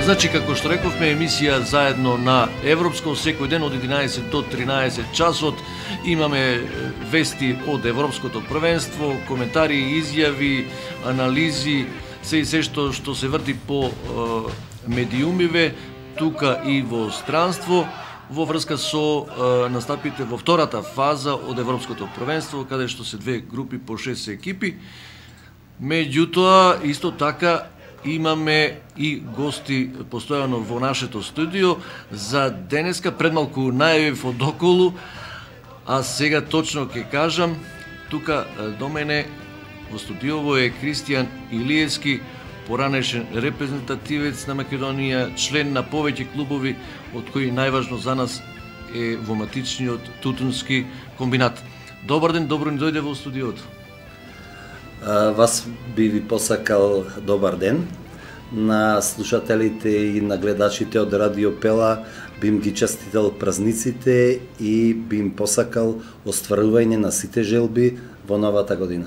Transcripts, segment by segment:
Значи, како што рековме, емисија заедно на Европско, секој ден од 11 до 13 часот. Имаме вести од Европското првенство, коментари, изјави, анализи, се и се што се врти по медиумиве, тука и во странство, во врска со настапите во втората фаза од Европското првенство, каде што се две групи по 6 екипи. Меѓутоа, исто така, имаме и гости постојано во нашето студио. За денеска предмалку најавив од околу, а сега точно ќе кажам, тука до мене во студиово е Кристијан Илиевски, поранешен репрезентативец на Македонија, член на повеќе клубови, од кои најважно за нас е во матичниот тутунски комбинат. Добар ден, добро ни дојде во студиото. Вас би ви посакал добар ден. На слушателите и на гледачите од Радио Пела би им ги честител празниците и би им посакал остварување на сите желби во новата година.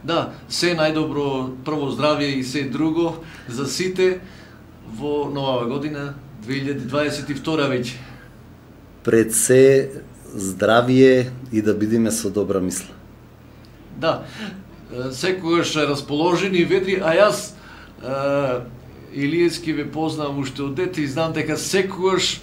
Да, се најдобро, прво здравје и се друго за сите во новава година 2022 веќе. Пред се здравје и да бидеме со добра мисла. Да, секогаш расположени, ведри, а јас Илиевски ве познавам уште од дете и знам дека секогаш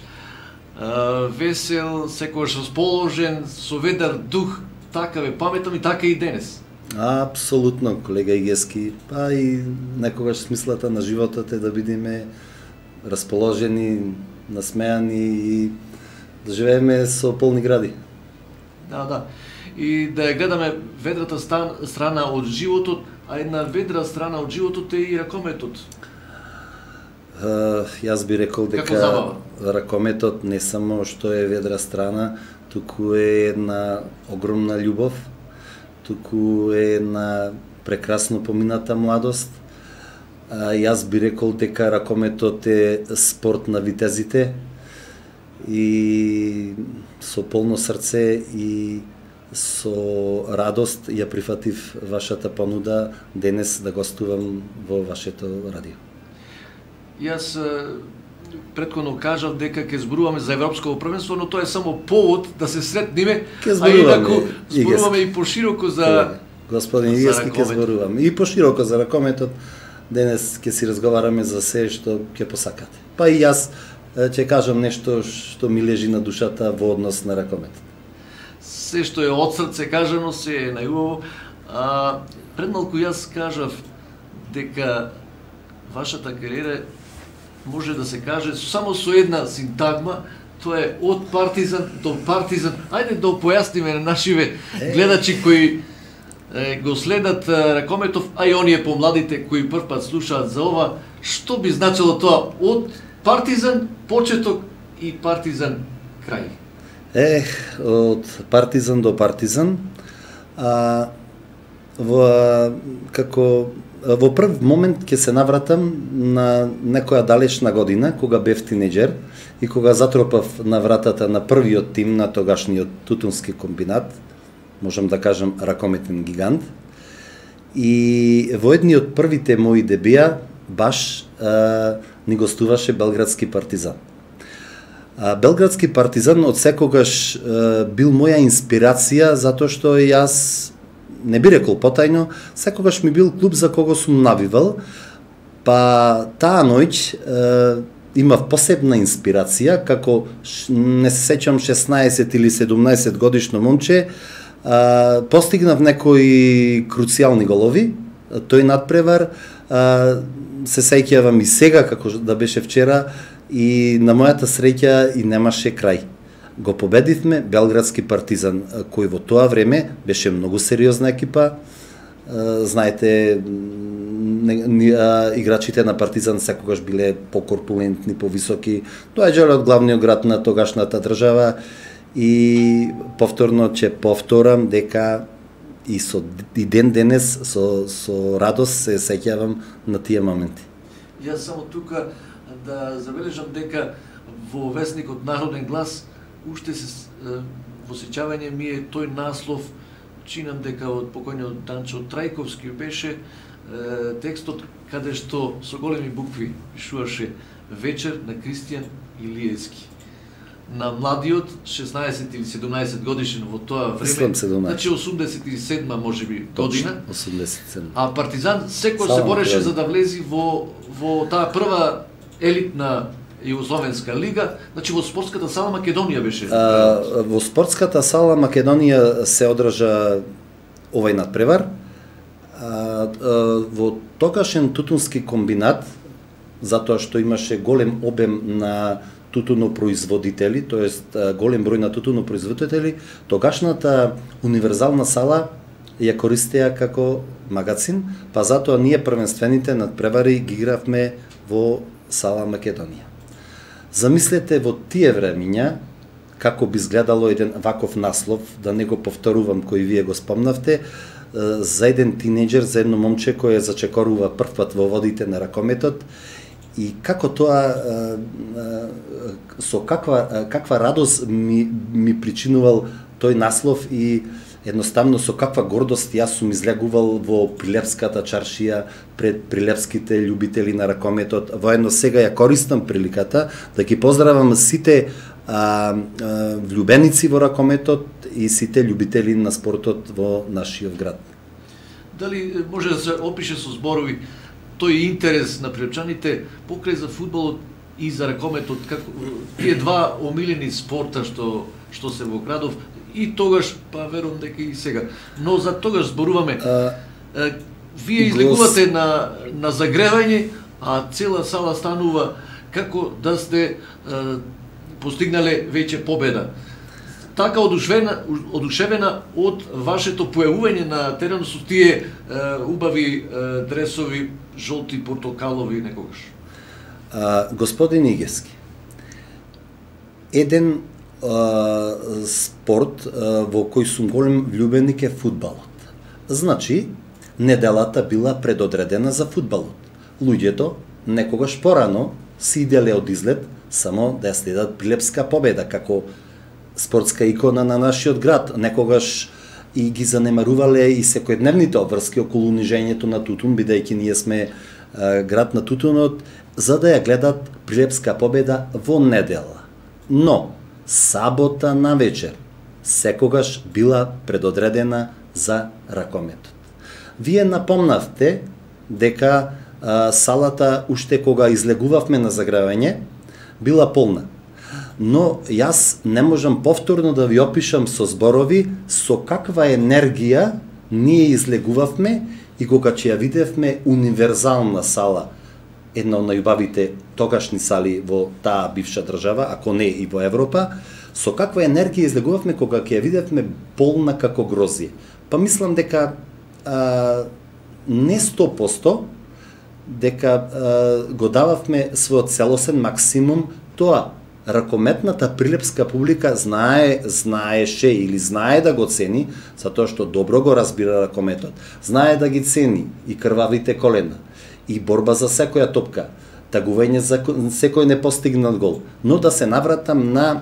весел, секогаш расположен, со ведар дух, така ве паметам и така и денес. Апсолутно, колега Игески, па и некогаш смислата на животот е да бидеме расположени, насмеани и да живееме со полни гради. Да. И да ја гледаме ведрата страна од животот, а една ведра страна од животот е и ракометот. Јас би рекол дека ракометот не само што е ведра страна, туку е една огромна љубов, туку е една прекрасно помината младост. Јас би рекол дека ракометот е спорт на витезите и со полно срце и со радост ја прифатив вашата понуда денес да гостувам во вашето радио. Јас претходно кажав дека ќе зборуваме за Европско првенство, но тоа е само повод да се сретнеме, а инаку зборуваме и пошироко за господин Игески, ќе зборуваме и пошироко за ракометот. Денес ќе си разговараме за се што ќе посакате. Па и јас ќе кажам нешто што ми лежи на душата во однос на ракометот. Се што е од срце кажано, се е најубаво. Предмалку јас кажав дека вашата кариера може да се каже само со една синтагма, тоа е од Партизан до Партизан. Ајде да појасниме на нашиве гледачи кои го следат ракометов, а и оние помладите кои прв пат слушаат за ова, што би значило тоа од Партизан почеток и Партизан крај? Од Партизан до Партизан, во прв момент ќе се навратам на некоја далечна година, кога бев тинеџер и кога затропав на вратата на првиот тим на тогашниот тутунски комбинат, можам да кажам ракометен гигант. И во едни од првите мои дебија баш ни гостуваше Белградски Партизан. Белградски Партизан од секогаш бил моја инспирација, затоа што јас, не би рекол потајно, секогаш ми бил клуб за кого сум навивал, па таа ноќ имав посебна инспирација, како не се сеќам 16 или 17 годишно момче, постигнав некои круцијални голови, тој надпревар, се сеќавам и сега како да беше вчера, и на мојата среќа и немаше крај. Го победивме Белградски Партизан, кој во тоа време беше многу сериозна екипа. Знаете, играчите на Партизан секогаш биле покорпулентни, повисоки, доаѓале од главниот град на тогашната држава и повторно ќе повторам дека и ден денес со радост се сеќавам на тие моменти. Јас само тука да забележам дека во весникот Народен глас уште се во сеќавање ми е тој наслов, чинам дека од покојниот Данчо Трајковски беше текстот каде што со големи букви пишуваше вечер на Кристијан Илиевски. На младиот 16 или 17 годишен во тоа време, значи 87 можеби година. 87. А Партизан секој се бореше за да влези во таа прва елитна Југословенска лига, значи во спортската сала Македонија беше. Во спортската сала Македонија се одржа овој надпревар. Во тогашен тутунски комбинат, затоа што имаше голем обем на тутунопроизводители, тоест голем број на тутунопроизводители, тогашната универзална сала ја користеа како магазин, па затоа ние првенствените надпревари ги игравме во сала Македонија. Замислете во тие времиња како би изгледало еден ваков наслов, да не го повторувам кој вие го спомнавте, за еден тинеџер, за едно момче кое зачекорува првпат во водите на ракометот и како тоа со каква радост ми причинувал тој наслов и едноставно со каква гордост јас сум излегувал во Прилепската чаршија пред прилепските љубители на ракометот. Воедно сега ја користам приликата да ги поздравам сите влюбеници во ракометот и сите љубители на спортот во нашиот град. Дали може да се опише со зборови тој интерес на прилепчаните покрај за фудбалот и за ракометот, како тие два омилени спорта што се во градов и тогаш, па верувам дека и сега. Но за тогаш зборуваме. Вие излегувате на загревање, а цела сала станува како да сте постигнале веќе победа. Така одушевена од вашето појавување на теренот со тие убави дресови, жолти, портокалови некогаш. Господин Игески, еден спорт во кој сум голем влюбеник е фудбалот. Значи, неделата била предодредена за фудбалот. Луѓето некогаш порано си иделе од излет само да ја следат Прилепска победа како спортска икона на нашиот град. Некогаш и ги занемарувале и секојдневните обврски околу унижењето на тутун, бидејќи ние сме град на тутунот, за да ја гледат Прилепска победа во недела. Но сабота на вечер секогаш била предодредена за ракометот. Вие напомнавте дека салата уште кога излегувавме на загревање била полна. Но јас не можам повторно да ви опишам со зборови со каква енергија ние излегувавме и кога ќе ја видевме универзална сала, една од најубавите тогашни сали во таа бивша држава, ако не и во Европа, со каква енергија излегувавме кога ќе ја видевме полна како грозие. Па мислам дека не 100%, дека го дававме својот целосен максимум, тоа ракометната прилепска публика знаеше или знае да го цени, затоа што добро го разбира ракометот. Знае да ги цени и крвавите колена, и борба за секоја топка, тагување за секој непостигнат гол. Но да се навратам на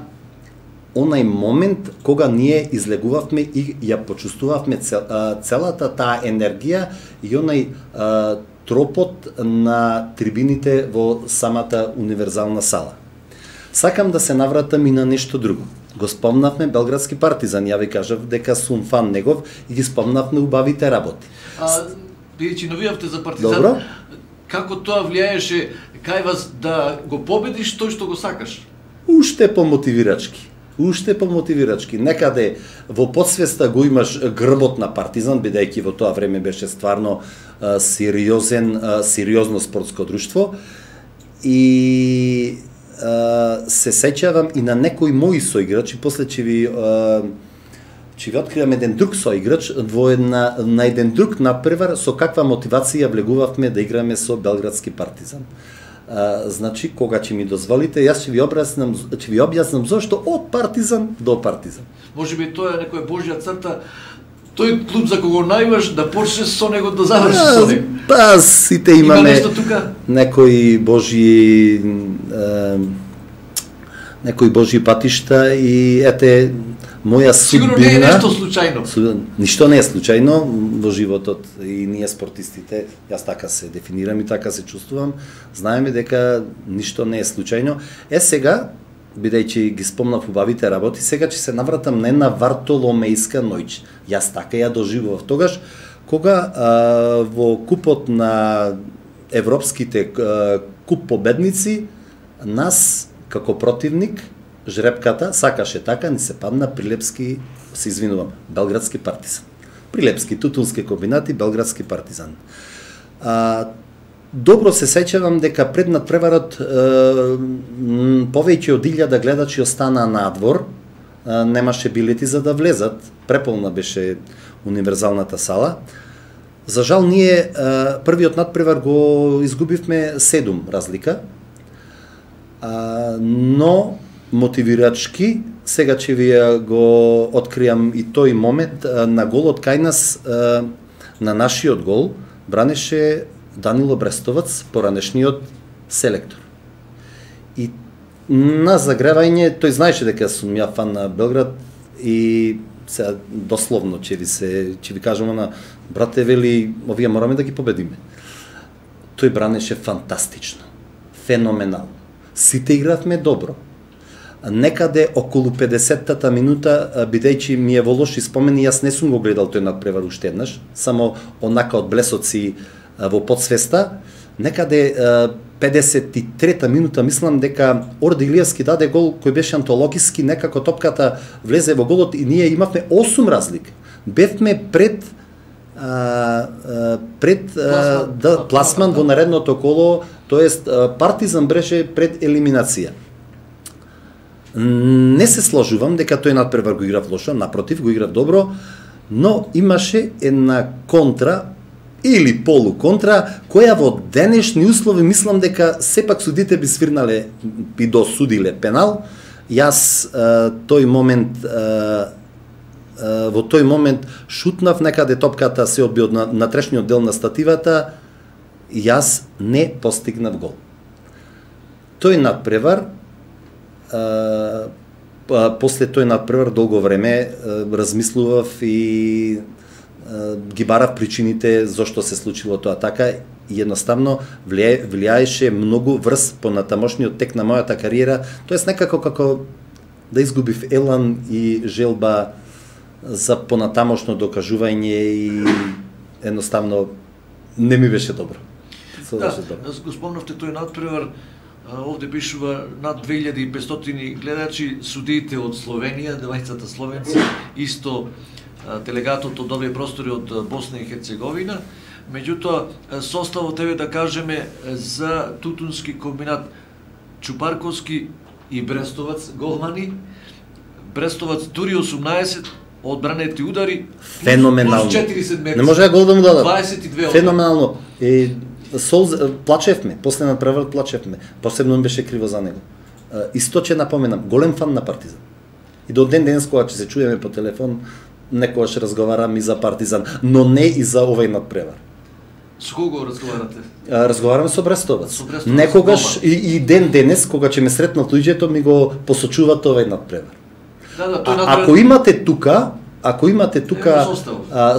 онај момент кога ние излегувавме и ја почувствувавме целата таа енергија и онај тропот на трибините во самата универзална сала. Сакам да се навратам и на нешто друго. Го спомнавме Белградски Партизан, ја ви кажав дека сум фан негов и ги спомнавме убавите работи. Бидејќи навијавте за Партизан, добро? Како тоа влијаеше кај вас да го победиш тој што го сакаш? Уште помотивирачки. Некаде во подсвеста го имаш грбот на Партизан, бидејќи во тоа време беше стварно сериозно спортско друштво. И се сеќавам и на некои мои соиграчи, после ќе ви откривам еден друг соиграч на еден друг надпревар со каква мотивација влегувавме да играме со Белградски Партизан. Значи, кога ќе ми дозволите, јас ќе ви објаснам зошто од Партизан до Партизан. Може би тоа е некоја божја црта, тој клуб за кого најмаш да почнеш со него да завршиш со него. Па, сите имаме некои божји патишта и ете, моја Сигурно не е нешто случајно. Ништо не е случајно во животот и ние спортистите, јас така се дефинирам и така се чувствувам, знаеме дека ништо не е случајно. Сега, бидејќи ги спомнав убавите работи, сега ќе се навратам на една Вартоломејска ноќ. Јас така ја доживував тогаш, кога во купот на европските куп победници, нас како противник, жрепката сакаше така, ни се падна Прилепски, се извинувам, Белградски партизан. Прилепски, Тутунски комбинати, Белградски партизан. Добро се сеќавам дека пред надпреварот повеќе од 1000 гледачи остана надвор, немаше билети за да влезат, преполна беше универзалната сала. За жал ние првиот надпревар го изгубивме 7 разлика, но мотивирачки, сега ќе ви го откријам и тој момент, на голот кај нас, на нашиот гол, бранеше Данило Брестовац, поранешниот селектор. И на загревање, тој знаеше дека сум ја фан на Белград и сега дословно ќе ви кажам на брате, вели, овие мораме да ги победиме. Тој бранеше фантастично, феноменално. Сите игравме добро. Некаде околу 50-та минута, бидејќи ми е во лоши спомени, јас не сум го гледал тој надпревар уште еднаш, само онака од блесоци во подсвеста, некаде 53-та минута мислам дека Орде Илиевски даде гол кој беше антологиски, некако топката влезе во голот и ние имавме 8 разлика. Бевме пред пласман во наредното коло, тоест Партизан беше пред елиминација. Не се сложувам дека тој надпревар го играв лошо, напротив, го играв добро, но имаше една контра или полуконтра, која во денешни услови мислам дека сепак судите би свирнале, би досудиле пенал. Јас во тој момент шутнав, некаде топката се одби од натрешниот дел на стативата, јас не постигнав гол. Тој надпревар, после тој надпревар долго време размислував и ги барав причините зошто се случило тоа така и едноставно влијаеше многу врз по натамошниот тек на мојата кариера, тоест некако како да изгубив елан и желба за понатамошно докажување и едноставно не ми беше добро. Да, го спомнавте тој надпревар, овде пишува над 2500 гледачи, судиите од Словенија, двајцата словенци, исто делегатот од овие простори од Босна и Херцеговина. Меѓутоа, составот еве да кажеме за Тутунски комбинат Чупарковски и Брестовац голмани. Брестовац дури 18 одбранети удари, феноменално. Плюс 40 метри. Не може гол да му дадат. 22 феноменално. Плачевме, после надпревар плачевме. Посебно ми беше криво за него. Исто ќе напоменам, голем фан на Партизан. И до ден денес кога ќе се чуеме по телефон, некогаш разговарам и за Партизан, но не и за овој надпревар. Со кого разговарате? Разговарам со Брестовац. Некогаш и ден денес, кога ќе ме сретнат луѓето, ми го посочуваат овој надпревар. Да, ако имате тука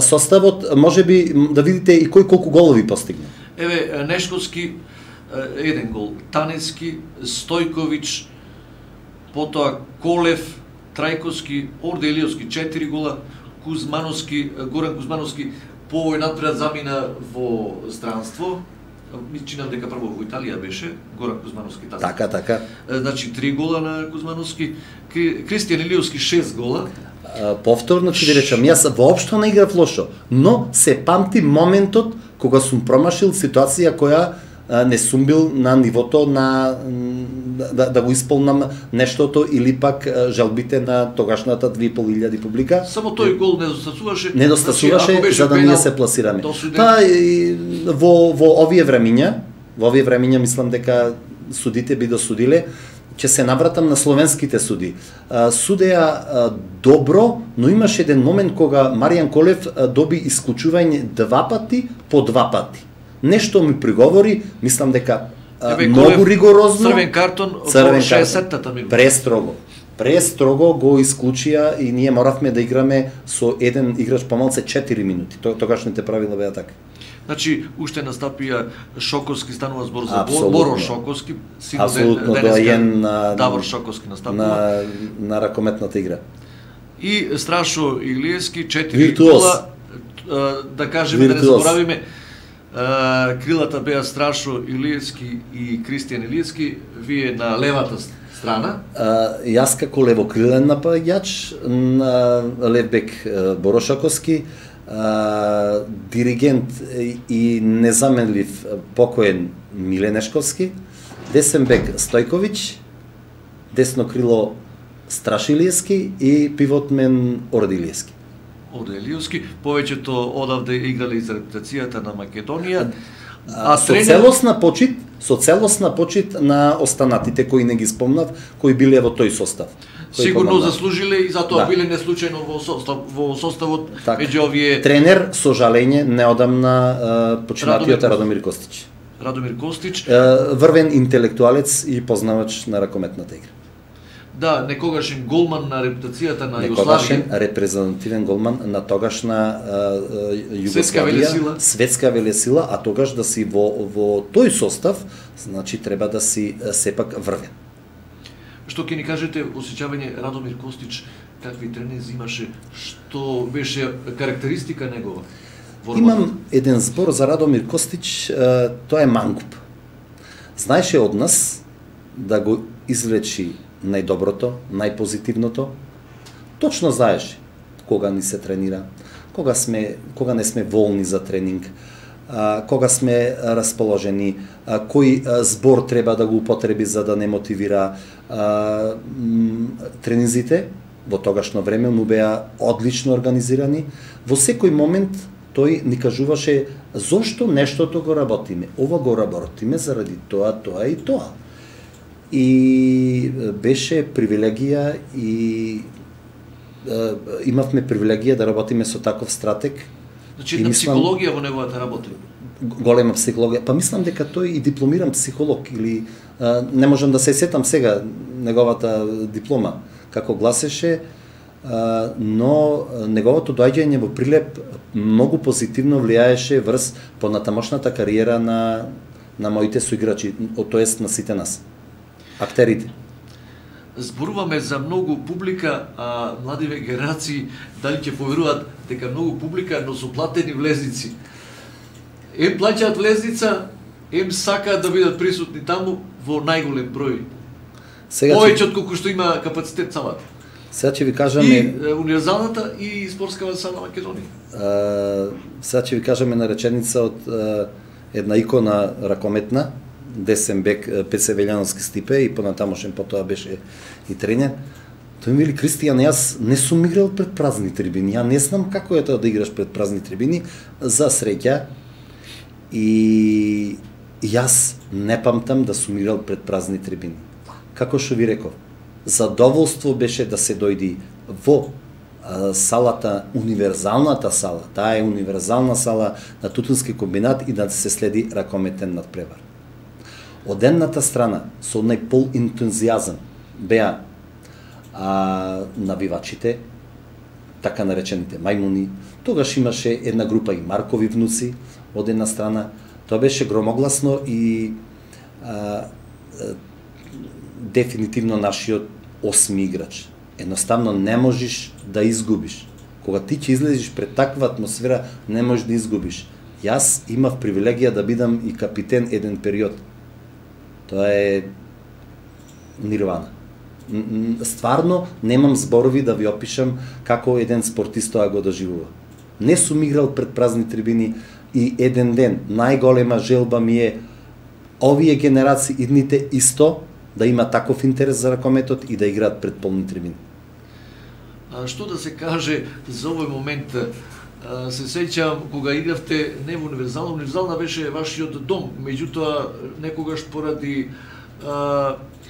составот, можеби да видите и кој колку голови постигна. Еве Нешковски 1 гол, Танески, Стојковиќ, потоа Колев, Трајковски, Орде Илиевски 4 гола, Кузмановски, Горан Кузмановски по овој надпревар замина во странство. Ми чинам дека прво во Италија беше Горан Кузмановски таа. Така. Значи 3 гола на Кузмановски, Кристијан Илиевски 6 гола. Повторно ќе ви речам, јас воопшто не играв лошо, но се памти моментот кога сум промашил ситуација која не сум бил на нивото на да го исполнам нештото или пак жалбите на тогашната 2500 публика. Само тој гол недостасуваше. Недостасуваше за да ние се пласираме. Во овие времиња мислам дека судите би досудиле. Ќе се навратам на словенските суди. Судеа добро, но имаше еден момент кога Маријан Колев доби исклучување 2 пати по 2 пати. Нешто ми приговори, мислам дека многу ригорозно. Црвен картон во 60-та минута. Престрого. престрого го исклучија и ние моравме да играме со еден играч помалце 4 минути. Тогашните правила беа така. Значи, уште настапија Шоковски, станува збор за Апсолутно. Боро Шоковски, Апсолутно доаен на Давор Шоковски настапува. На ракометната игра. И Страшо Илиевски, 4 Виртуоз. гола, да кажеме, да не Виртуоз. заборавиме, крилата беа Страшо Илиевски и Кристијан Илиевски, вие на левата страна. Јас како левокрилен напаѓач, на левбек Боро Шоковски, диригент и незаменлив покоен Миле Нешковски, десен бек Стојковиќ, десно крило Страшо Илиевски и пивотмен Ораде Илиевски. Ораде Илиевски, повеќето одавде играле за репутацијата на Македонија. Со целосна почит на останатите кои не ги спомнав, кои биле во тој состав. Сигурно заслужиле и затоа биле не случајно во составот меѓу овие. Тренер со жалење неодамна починатиот Радомир Костич. Радомир Костич, врвен интелектуалец и познавач на ракометната игра. Да, некогашен голман на репутацијата на некогашен Југославија. Репрезентативен голман на тогашна Југославија, светска велесила, а тогаш да си во тој состав, значи треба да си сепак врвен. Што ќе ни кажете осеќавање Радомир Костич, какви тренинзи имаше, што беше карактеристика негова? Имам еден збор за Радомир Костич, тоа е мангуп. Знаеше од нас да го извлечи најдоброто, најпозитивното. Точно знаеше кога ни се тренира, кога не сме волни за тренинг, кога сме расположени, кој збор треба да го употреби за да не мотивира. Тренинзите во тогашно време му беа одлично организирани. Во секој момент тој ни кажуваше зошто нештото го работиме. Ова го работиме заради тоа, тоа и тоа. И беше привилегија и имавме привилегија да работиме со таков стратег. Значи една психологија во неговата работа. Голема психологија. Па мислам дека тој и дипломиран психолог или не можам да се сетам сега неговата диплома како гласеше, но неговото доаѓање во Прилеп многу позитивно влијаеше врз понатамошната кариера на моите соиграчи, тоест на сите нас. Актерите. Зборуваме за многу публика, а младиве генерации дали ќе поверуваат дека многу публика, но со платени влезници. Им плаќаат влезница, им сакаат да бидат присутни таму во најголем број. Повеќе од колку што има капацитет салата. Сега ќе ви кажеме и универзалната и спортската сала на Македонија. Сега ќе ви кажеме на реченица од една икона ракометна, десен бек Пеце Велјановски Стипе и понатамошен потоа беше и тренер. Тој ми вели: Кристијан, јас не сум играл пред празни трибини. Ја не знам како е тоа да играш пред празни трибини. За среќа и јас не памтам да сум играл пред празни трибини. Како што ви реков, задоволство беше да се дојди во салата, универзалната сала. Таа е универзална сала на Тутунски комбинат и да се следи ракометен надпревар. Од едната страна, со најпол ентузијазам, беа навивачите, така наречените мајмуни. Тогаш имаше една група и Маркови внуци, од една страна. Тоа беше громогласно и дефинитивно нашиот осми играч. Едноставно не можеш да изгубиш. Кога ти ќе излезеш пред таква атмосфера, не можеш да изгубиш. Јас имав привилегија да бидам и капитен еден период. Тоа е нирвана. Стварно немам зборови да ви опишам како еден спортист тоа го доживува. Не сум играл пред празни трибини и еден ден најголема желба ми е овие генерации идните исто да има таков интерес за ракометот и да играат пред полни трибини. Што да се каже за овој момент? Се сеќавам кога игравте не во универзална, универзална беше вашиот дом, меѓутоа некогаш поради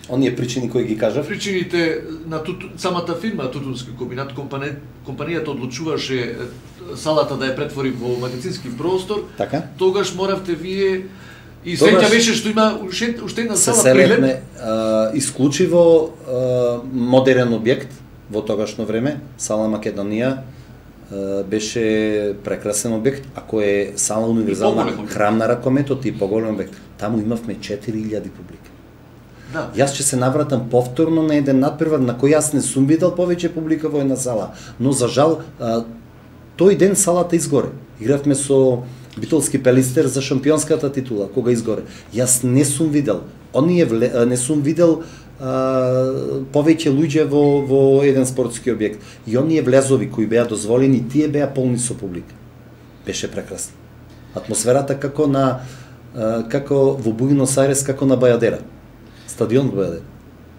оние причини кои ги кажав, причините на самата фирма Тутунски комбинат, компанијата одлучуваше салата да ја претвори во магазински простор. Така? Тогаш моравте вие И среќа беше што има уште една се сала прилеп. селевме исклучиво модерен објект во тогашно време. Сала Македонија беше прекрасен објект, ако е сала универзална храм на ракометот и поголем објект. Таму имавме 4000 публика. Да. Јас ќе се навратам повторно на еден надпревар на кој јас не сум видел повеќе публика во една сала, но за жал тој ден салата изгоре. Игравме со Битолски Пелистер за шампионската титула, кога изгоре. Јас не сум видел, не сум видел повеќе луѓе во еден спортски објект. И оние влезови кои беа дозволени, тие беа полни со публика. Беше прекрасно. Атмосферата како во Буенос Ајрес, како на Бајадера. Стадион Бајадера.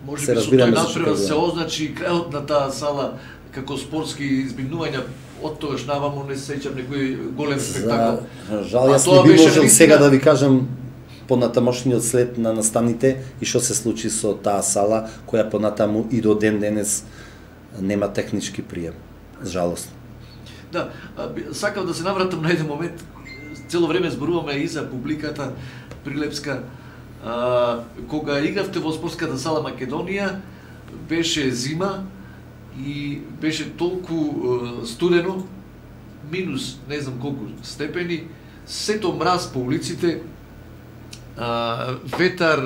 Може би со тој надпревар се означи крајот на таа сала како спортски избигнувања. Од тогаш наваму не се сеќам некој голем спектакл. Жал, јас не би можел сега да ви кажам понатамошниот след на настаните и што се случи со таа сала, која понатаму и до ден денес нема технички прием. Жалосно. Да, сакав да се навратам на еден момент. Цело време зборуваме и за публиката прилепска. Кога игравте во спортската сала Македонија, беше зима и беше толку студено, минус не знам колку степени, сето мраз по улиците, ветар,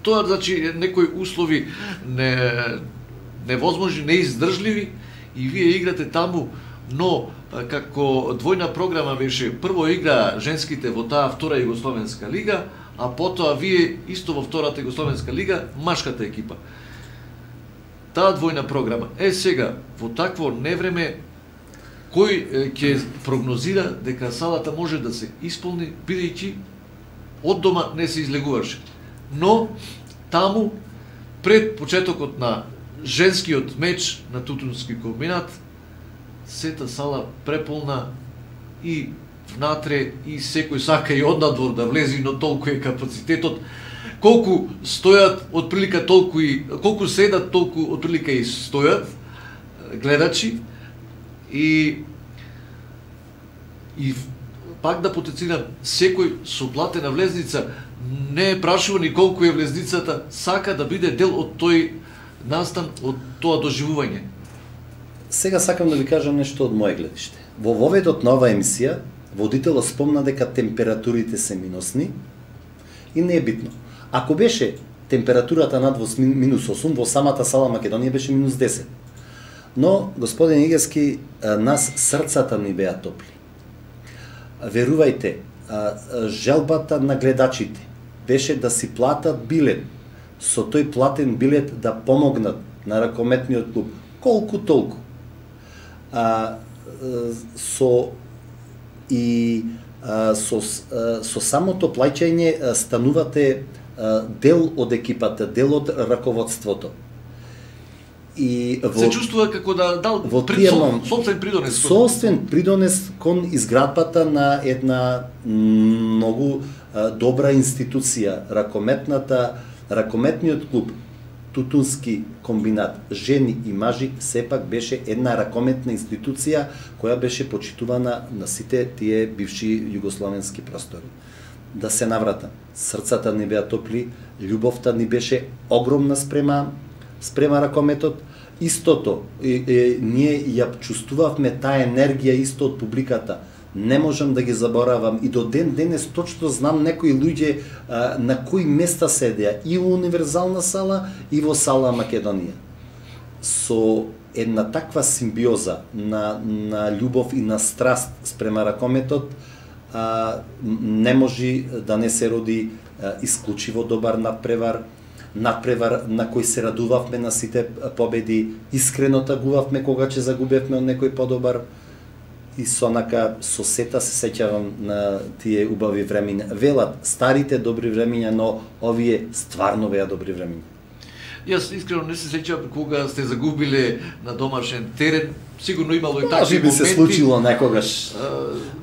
тоа значи некои услови невозможни, неиздржливи и вие играте таму, но како двојна програма беше, прво игра женските во таа втора Југословенска лига, а потоа вие исто во втората Југословенска лига, машката екипа. Таа двојна програма. Сега, во такво невреме, кој ќе прогнозира дека салата може да се исполни, бидејќи од дома не се излегуваше. Но, таму, пред почетокот на женскиот меч на Тутунски комбинат, сета сала преполна и внатре, и секој сака и однадвор да влези, но толку е капацитетот. Колку стојат, отприлика толку и колку седат, толку отприлика и стојат гледачи и пак да потенцирам, секој со платена влезница не е прашува ни колку е влезницата, сака да биде дел од тој настан, од тоа доживување. Сега сакам да ви кажам нешто од моје гледиште. Во воведот на оваа емисија, водителот спомна дека температурите се минусни и не е битно. Ако беше температурата над минус 8, во самата сала Македонија беше минус 10. Но, господин Игески, нас срцата ни беа топли. Верувајте, желбата на гледачите беше да си платат билет, со тој платен билет да помогнат на ракометниот клуб, колку толку. Со самото плаќање станувате дел од екипата, дел од раководството. И се чувствува како да дал собствен придонес. Собствен придонес кон изградбата на една многу добра институција, ракометниот клуб Тутунски комбинат, жени и мажи, сепак беше една ракометна институција која беше почитувана на сите тие бивши југословенски простори. Да се навратам, срцата ни беа топли, љубовта ни беше огромна спрема ракометот. Истото, ние ја чувствувавме таа енергија исто од публиката. Не можам да ги заборавам и до ден денес точно знам некои луѓе на кои места седеа и во универзална сала и во сала Македонија. Со една таква симбиоза на љубов и на страст спрема ракометот, не може да не се роди исклучиво добар надпревар на кој се радувавме на сите победи, искрено тагувавме кога ќе загубевме од некој подобар и со сета се сеќавам на тие убави времиња. Велат, старите добри времиња, но овие стварно беа добри времиња. Јас искрено не се сеќавам кога сте загубиле на домашен терен. Сигурно имало и такви моменти. Се случило некогаш.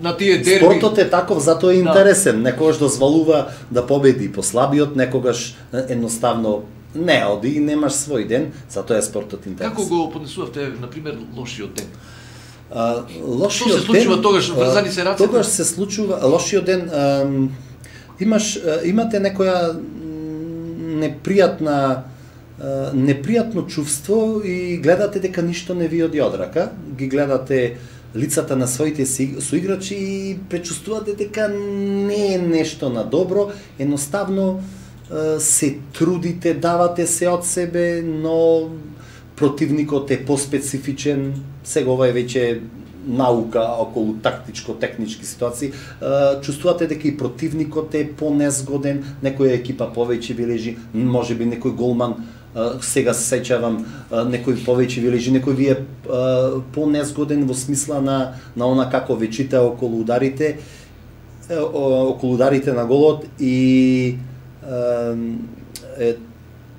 На тие дерби. Спортот е таков, затоа е интересен. Некогаш дозволува да победи послабиот, некогаш едноставно не оди и немаш свој ден, затоа е спортот интересен. Како го поднесувавте, например, лошиот ден? Лошиот ден... Што се случува тогаш, врзани се рацете? Тогаш се случува лошиот ден. имате некоја непријатно чувство и гледате дека ништо не ви оди од рака, ги гледате лицата на своите соиграчи и пречувствувате дека не е нешто на добро, едноставно се трудите, давате се од себе, но противникот е поспецифичен, сега ова е веќе наука околу тактичко-технички ситуации, чувствувате дека и противникот е понезгоден, некоја екипа повеќе ви лежи, можеби некој голман, сега се сеќавам, некој повеќе ви лежи, некој ви е понезгоден во смисла на она како ве чита околу ударите на голот и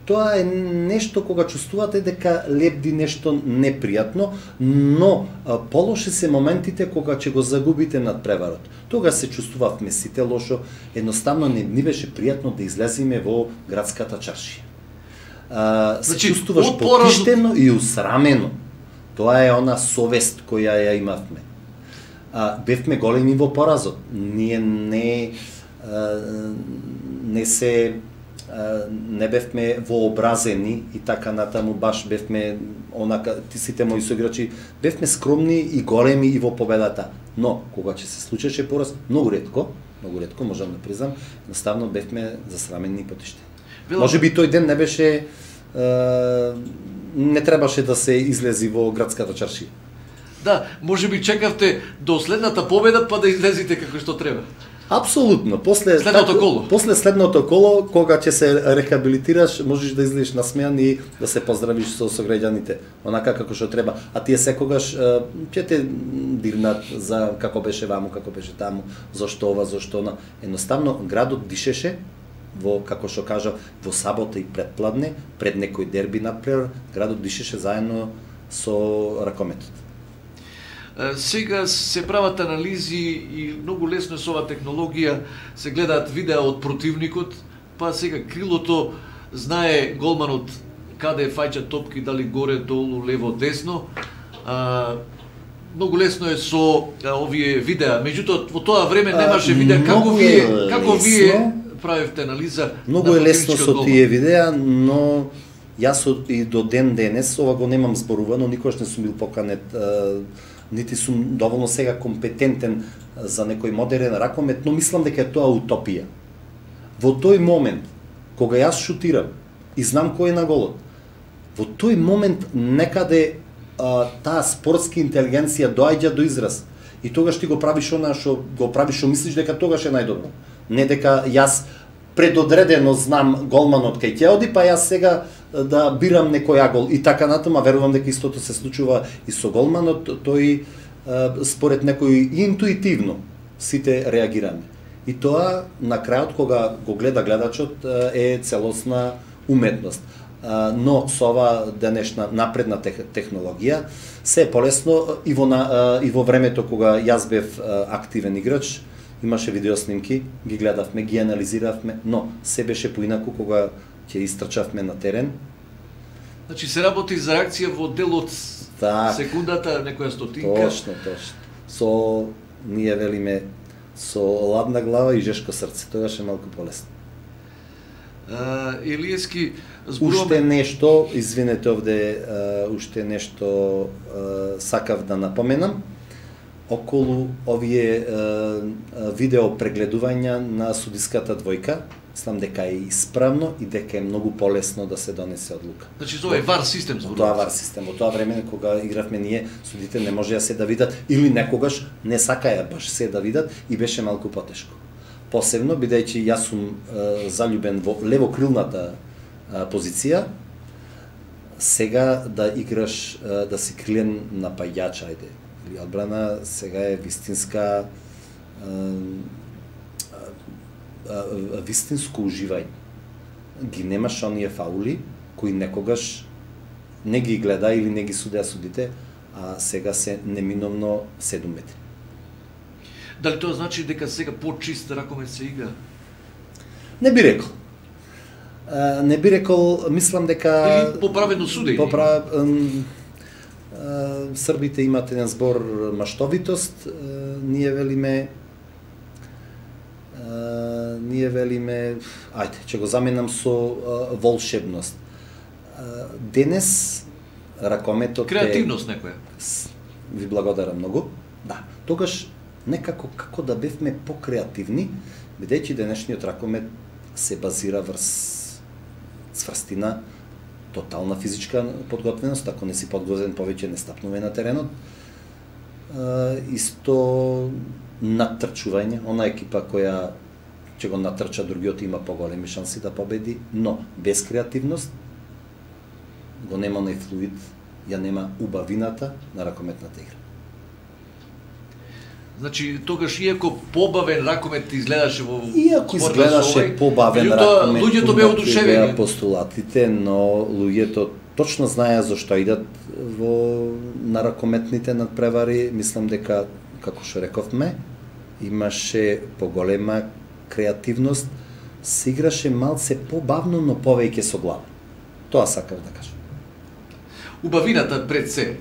тоа е нешто кога чувствувате дека лебди нешто непријатно, но полоши се моментите кога ќе го загубите над преварот. Тога се чувствувавме сите лошо, едноставно не ни беше пријатно да излеземе во градската чаршија. Се чувствуваш потиштено и усрамено. Тоа е она совест која ја имавме. Бевме големи во поразот. Ние не бевме вообразени и така натаму, баш бевме онака, сите мои соиграчи, бевме скромни и големи и во победата. Но, кога ќе се случеше пораз, многу ретко, можам да признам, едноставно бевме засрамени и потиштени. Може би тој ден не беше, не требаше да се излези во градската чаршија. Да, може би чекавте до следната победа па да излезете како што треба. Апсолутно. После следното коло, кога ќе се рехабилитираш, можеш да излезеш насмеан и да се поздравиш со сограѓаните, онака како што треба. А тие секогаш ќе те дирнат за како беше ваму, како беше таму, зошто ова, зошто она. Едноставно градот дишеше во, како што кажа, во сабота и предпладне, пред некој дерби например, градот дишеше заедно со ракометот. Сега се прават анализи и многу лесно со оваа технологија се гледаат видеа од противникот, па сега крилото знае голманот каде фаќа топки, дали горе, долу, лево, десно. Многу лесно е со овие видеа. Меѓутоа во тоа време немаше видеа како вие правевте анализа. Многу е лесно со тие видеа, но јас и до ден денес ова го немам зборувано, никош не сум бил поканет, нити сум доволно сега компетентен за некој модерен ракомет, но мислам дека е тоа утопија. Во тој момент, кога јас шутирам и знам кој е на голот, во тој момент некаде таа спортска интелигенција доаѓа до израз. И тогаш ти го правиш она што го правиш, што мислиш дека тогаш е најдобро. Не дека јас предодредено знам голманот кај ќе оди, па јас сега да бирам некој агол и така натаму, верувам дека истото се случува и со голманот, тој според некој интуитивно сите реагираме. И тоа на крајот кога го гледа гледачот е целосна уметност. Но со ова денешна напредна технологија се е полесно и во времето кога јас бев активен играч, имаше видеоснимки, ги гледавме, ги анализиравме, но се беше поинаку кога ќе истрчавме на терен. Значи се работи за реакција во делот секундата, некоја стотинка. Точно. Со, ние велиме, со ладна глава и жешко срце, тогаш е малку полесно. Илиевски, зборуваме... Уште нешто, извинете овде, уште нешто сакав да напоменам, околу овие видео прегледувања на судиската двојка, мислам дека е исправно и дека е многу полесно да се донесе одлука. Значи тоа е вар систем зборуваме. Тоа вар систем. Во тоа време кога игравме ние, судите не можеа се да видат или некогаш не сакаја баш се да видат и беше малку потешко. Посебно бидејќи јас сум заљубен во левокрилната позиција, сега да играш, да си крилен напаѓач, ајде, или одбрана, сега е вистинско уживање. Ги немаш оние фаули кои некогаш не ги гледа или не ги судеа судите, а сега се неминовно 7 метри. Дали тоа значи дека сега по-чист ракомет се игра? Не би рекол. Не би рекол, мислам дека... Или поправено судење? Србите имат еден збор маштовитост, ние велиме ние велиме, ајде, ќе го заменам со волшебност. Денес ракометот креативност некоја. Ви благодарам многу. Да, тогаш некако како да бевме покреативни, бидејќи денешниот ракомет се базира врз цврстина, тотална физичка подготвеност, ако не си подготвен повеќе не стапнуваме на теренот. Исто натрчување, она екипа која ќе го натрча другиот има поголеми шанси да победи, но без креативност го нема оној флуид, ја нема убавината на ракометната игра. Значи, тогаш иако побавен ракомет изгледаше во Иако изгледаше побавен ракомет, луѓето беа одушевени. Постулатите, но луѓето точно знаеа зашто идат на ракометните надпревари. Мислам дека, како што рековме, имаше поголема креативност, се играше малце побавно, но повеќе со глава. Тоа сакав да кажам. Убавината пред се.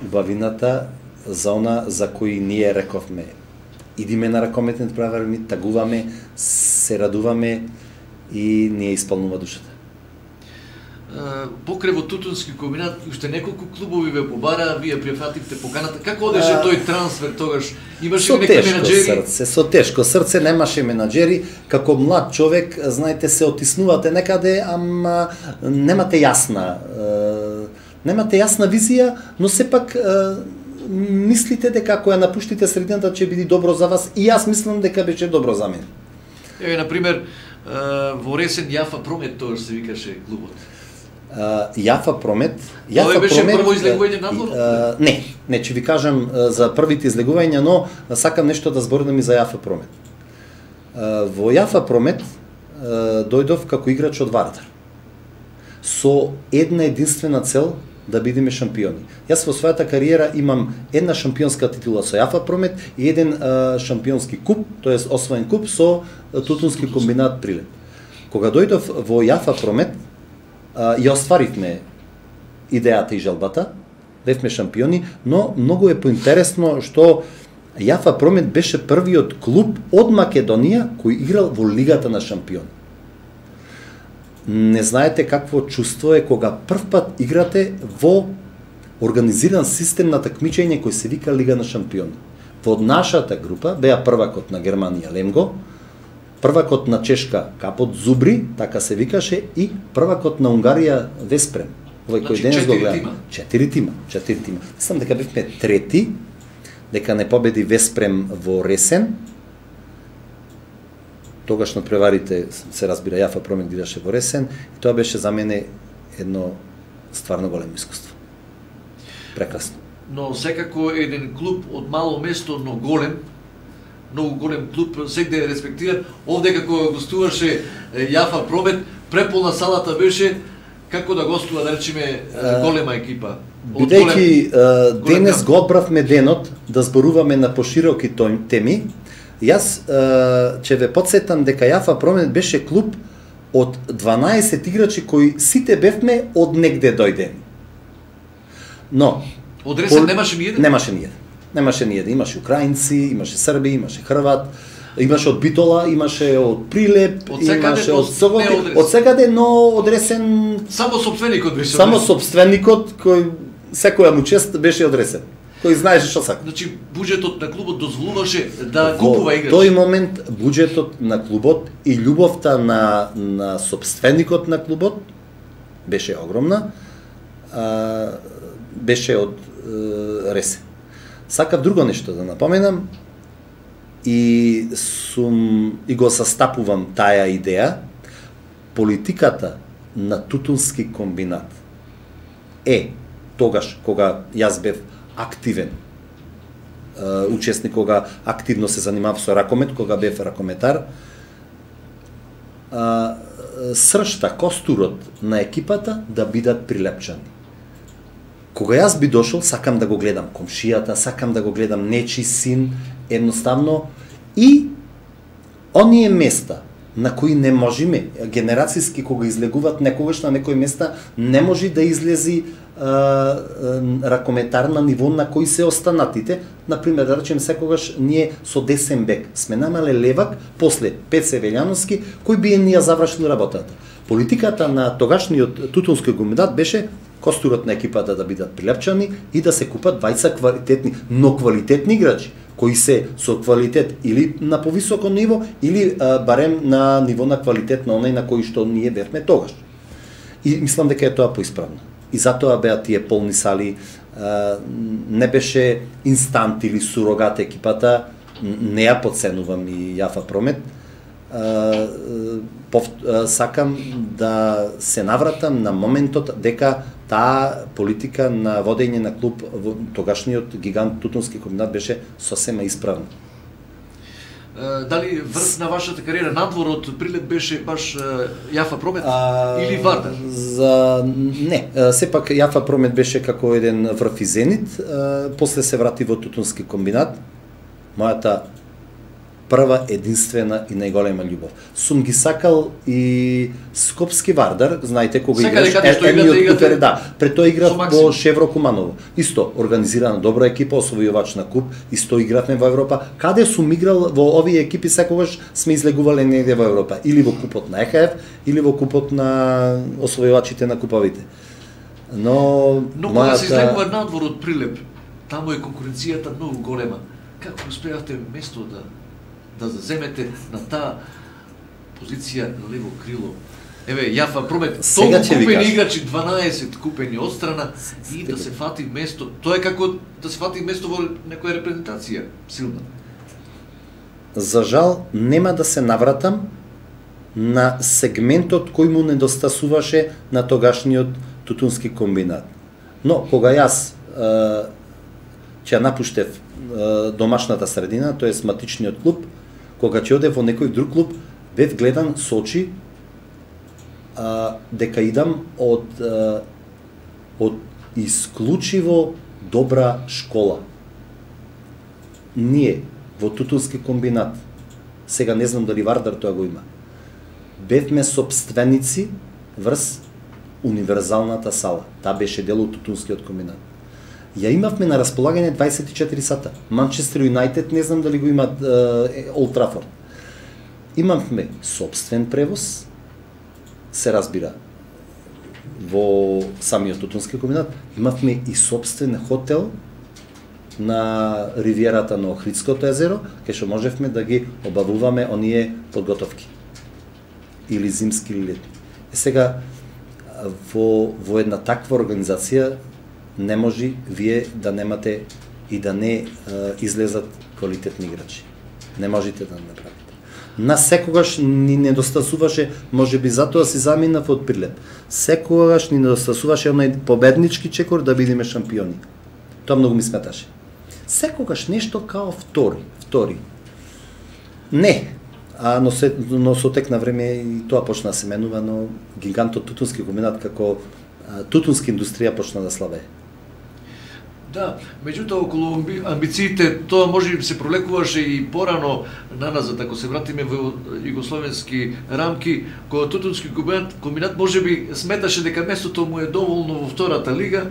Убавината за она за кои ние рековме. Идиме на ракометните надпревари, тагуваме, се радуваме и ние исполнува душата. Покрај во Тутунски комбинат, уште неколку клубови ве побараа, вие прифативте поканата. Како одеше тој трансфер тогаш? Имаше ли некои менаџери? Со тешко срце, немаше менаџери. Како млад човек, знаете, се отиснувате некаде, ама немате јасна визија, но сепак мислите дека ако ја напуштите средината ќе биде добро за вас, и јас мислам дека беше добро за мене. Еве, например, во Ресен Јафа Промет тогаш се викаше клубот. Јафа Промет. Тоа беше прво излегување надвор? Не, ќе ви кажам за првите излегувања, но сакам нешто да зборам и за Јафа Промет. Во Јафа Промет дојдов како играч од Вардар. Со една единствена цел да бидеме шампиони. Јас во својата кариера имам една шампионска титула со Јафа Промет и еден шампионски куп, тоест освоен куп со Тутунски комбинат Прилеп. Кога дојдов во Јафа Промет, ја остваривме идејата и желбата, бевме шампиони, но многу е поинтересно што Јафа Промет беше првиот клуб од Македонија кој играл во Лигата на шампиони. Не знаете какво чувство е кога прв пат играте во организиран систем на такмичење кој се вика Лига на шампиони. Во нашата група беа првакот на Германија Лемго, првакот на Чешка Капот Зубри, така се викаше, и првакот на Унгарија Веспрем. Овој кој денес го гледа. 4 тима. Мислам дека бевме трети, дека не победи Веспрем во Ресен. Тогаш надпреварите, се разбира, Јафа Промет играше во Ресен и тоа беше за мене едно стварно големо искуство. Прекрасно. Но секако еден клуб од мало место, но голем, многу голем клуб, сегде е респектиран. Овде како гостуваше Јафа Промет, преполна салата беше како да гостува, да речеме, голема екипа. Бидејќи денес го одбравме денот да зборуваме на пошироки теми, јас ќе ве подсетам дека Јафа Промет беше клуб од 12 играчи кои сите бевме од негде дојдени. Но од Ресен немаше ни еден? Немаше ни еден. Имаше украинци, имаше срби, имаше хрват, имаше од Битола, имаше од Прилеп, имаше од Соготи, од секаде, но од Ресен само сопственикот беше. Само сопственикот кој секоја му чест беше од Ресен, кој знаеше што сака. Значи буџетот на клубот дозволуваше да купува играчи. Во тој момент буџетот на клубот и љубовта на сопственикот на клубот беше огромна. Беше од Ресен. Сакав друго нешто да напоменам и го састапувам таа идеја. Политиката на Тутунски комбинат е тогаш кога јас бев активен учесник, кога активно се занимав со ракомет, кога бев ракометар, сршта, костурот на екипата да бидат прилепчани. Кога јас би дошол, сакам да го гледам комшијата, сакам да го гледам нечи син, едноставно, и оние места на кои не можеме, генерацијски кога излегуваат некогаш на некои места, не може да излези ракометар на ниво на кои се останатите. Например, да речем, секогаш ние со десен бек сме намале левак, после Пеце Велјановски, кој би ние завршил работата. Политиката на тогашниот Тутунски комбинат беше костурот на екипата да бидат прилепчани и да се купат двајца квалитетни, но квалитетни играчи, кои се со квалитет или на повисоко ниво, или барем на ниво на квалитет на оној на кој што ние бевме тогаш. И мислам дека е тоа поисправно. И затоа беа тие полни сали, не беше инстант или сурогат екипата, не ја подценувам и Јафа Промет. Сакам да се навратам на моментот дека таа политика на водење на клуб во тогашниот гигант Тутунски комбинат беше сосема исправна. Дали врз на вашата кариера надвор од Прилеп беше баш Јафа Промет или Вардар? Не, сепак Јафа Промет беше како еден врв и Зенит, после се врати во Тутунски комбинат. Мојата прва, единствена и најголема љубов. Сум ги сакал и Скопски Вардар, знаете кога играш, пред тоа играв во Шевро Куманово. Исто, организирана добра екипа, освојувач на куп, исто игравме во Европа. Каде сум играл во овие екипи, секогаш сме излегувале негде во Европа, или во купот на ЕХФ, или во купот на освојувачите на куповите. Но кога се излегува надвор од Прилеп, таму е конкуренцијата многу голема. Како успеавте место да заземете на таа позиција на лево крило? Еве, Јафа Промет, толку купени играчи, 12 купени одстрана и да се фати место. Тоа е како да се фати место во некоја репрезентација силна. За жал, нема да се навратам на сегментот кој му недостасуваше на тогашниот Тутунски комбинат. Но, кога јас ќе напуштев домашната средина, тоест матичниот клуб, кога ќе оде во некој друг клуб, бев гледан со очи дека идам од исклучиво добра школа. Ние во Тутунски комбинат, сега не знам дали Вардар тоа го има, бевме сопственици врз универзалната сала. Таа беше дел од Тутунскиот комбинат. Ја имавме на располагање 24 сата. Манчестер Юнајтед, не знам дали го имат Олд Трафорд. Имавме собствен превоз, се разбира, во самиот Тутунски комбинат. Имавме и собствен хотел на ривиерата на Охридското езеро, кај што можевме да ги обавуваме оние подготовки. Или зимски или летни. Сега, во една таква организација, не може вие да немате и да не излезат квалитетни играчи. Не можете да направите. Нас секогаш ни недостасуваше, можеби затоа си заминав од Прилеп. Секогаш ни недостасуваше оној победнички чекор да бидеме шампиони. Тоа многу ми сметаше. Секогаш нешто као втори. Не, но со тек на време и тоа почна да се менува, но гигантот Тутунски комбинат како тутунска индустрија почна да слабее. Да, меѓутоа околу амбициите тоа може би се пролекуваше и порано наназад, ако се вратиме во југословенски рамки, кога Тутунски комбинат може би сметаше дека местото му е доволно во втората лига,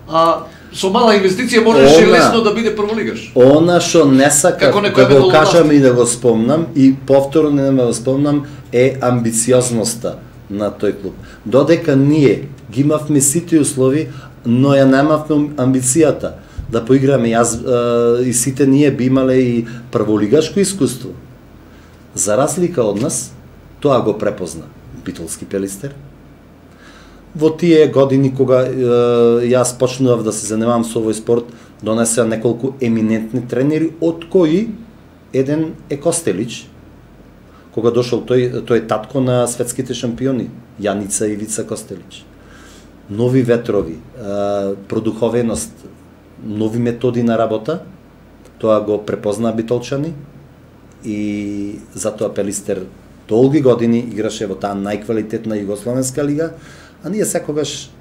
а со мала инвестиција можеше лесно да биде прволигаш. Она што не сакав да го кажам и да го спомнам, и повторно не го спомнам, е амбициозноста на тој клуб. Додека ние ги имавме сите услови, но ја немавме амбицијата да поиграме. Јас и сите ние би имале и прволигашко искуство. За разлика од нас, тоа го препозна Битолски Пелистер. Во тие години кога јас почнував да се занимавам со овој спорт, донесеа неколку еминентни тренери, од кои еден е Костелич. Кога дошол тој е татко на светските шампиони, Јаница Ивица Костелич. Нови ветрови, продуховеност, нови методи на работа, тоа го препозна битолчани и затоа Пелистер долги години играше во таа најквалитетна југословенска лига, а ние секогаш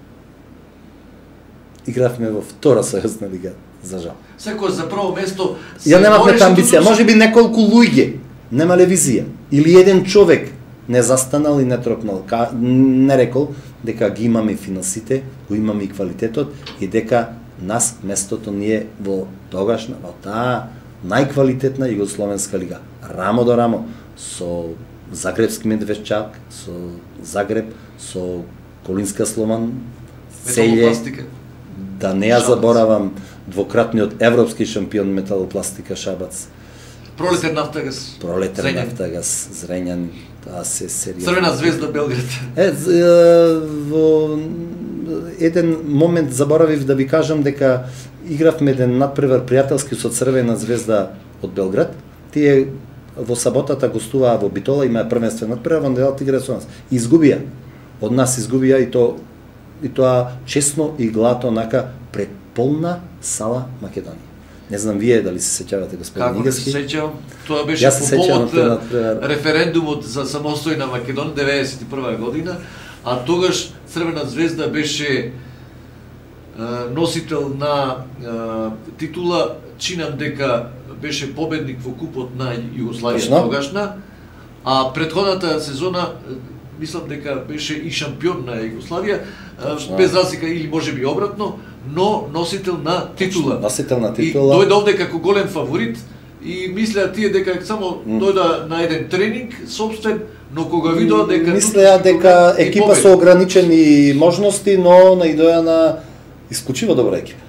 игравме во втора сојузна лига, за жал. Секогаш за прво место ја немавме амбиција, можеби неколку луѓе немале визија. Или еден човек не застанал и не тропнал, не рекол дека ги имаме финансите, го имаме и квалитетот и дека нас местото ни е во тогашна, во таа најквалитетна југословенска лига. Рамо до рамо со Загребски Медвешчак, со Загреб, со Колинска Слован, Целје, да не ја заборавам двократниот европски шампион металопластика Шабац. Пролетен Нафтагас. Пролетен Нафтагас, Зрењан, таа се серија. Црвена звезда Белград. Во еден момент заборавив да ви кажам дека игравме еден надпревар пријателски со Црвена звезда од Белград. Тие во саботата гостуваа во Битола, имаа првенствен надпревар, во неделата играа со нас. Изгубија. Од нас изгубија и тоа честно и глато онака пред полна сала Македонија. Не знам вие дали се сеќавате, господин Игаски. Како се сеќавам? Тоа беше по повод референдумот за самостојна Македонија 91 година, а тогаш Црвена звезда беше носител на титула, чинам дека беше победник во купот на Југославија тогашна, а претходната сезона мислам дека беше и шампион на Југославија, без разлика или можеби обратно, но носител на титула. Носител на титула. И дојде овде како голем фаворит и мислеа тие дека само дојда на еден тренинг собствен, но кога видоа дека мислеа дека екипа со ограничени можности, но наидоја на исклучиво добра екипа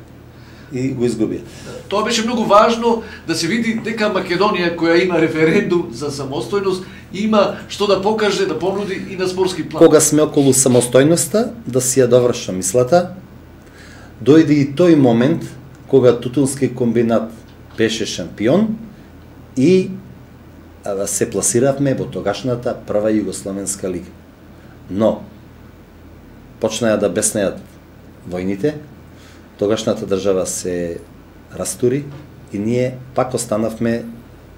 и го изгубија. Тоа беше многу важно да се види дека Македонија, која има референдум за самостојност, има што да покаже, да понуди и на спортски план. Кога сме околу самостојноста, да си ја довршам мислата, дојде и тој момент кога Тутунски комбинат беше шампион и се пласиравме во тогашната прва југословенска лига. Но почнаа да беснеат војните, тогашната држава се растури и ние пак останавме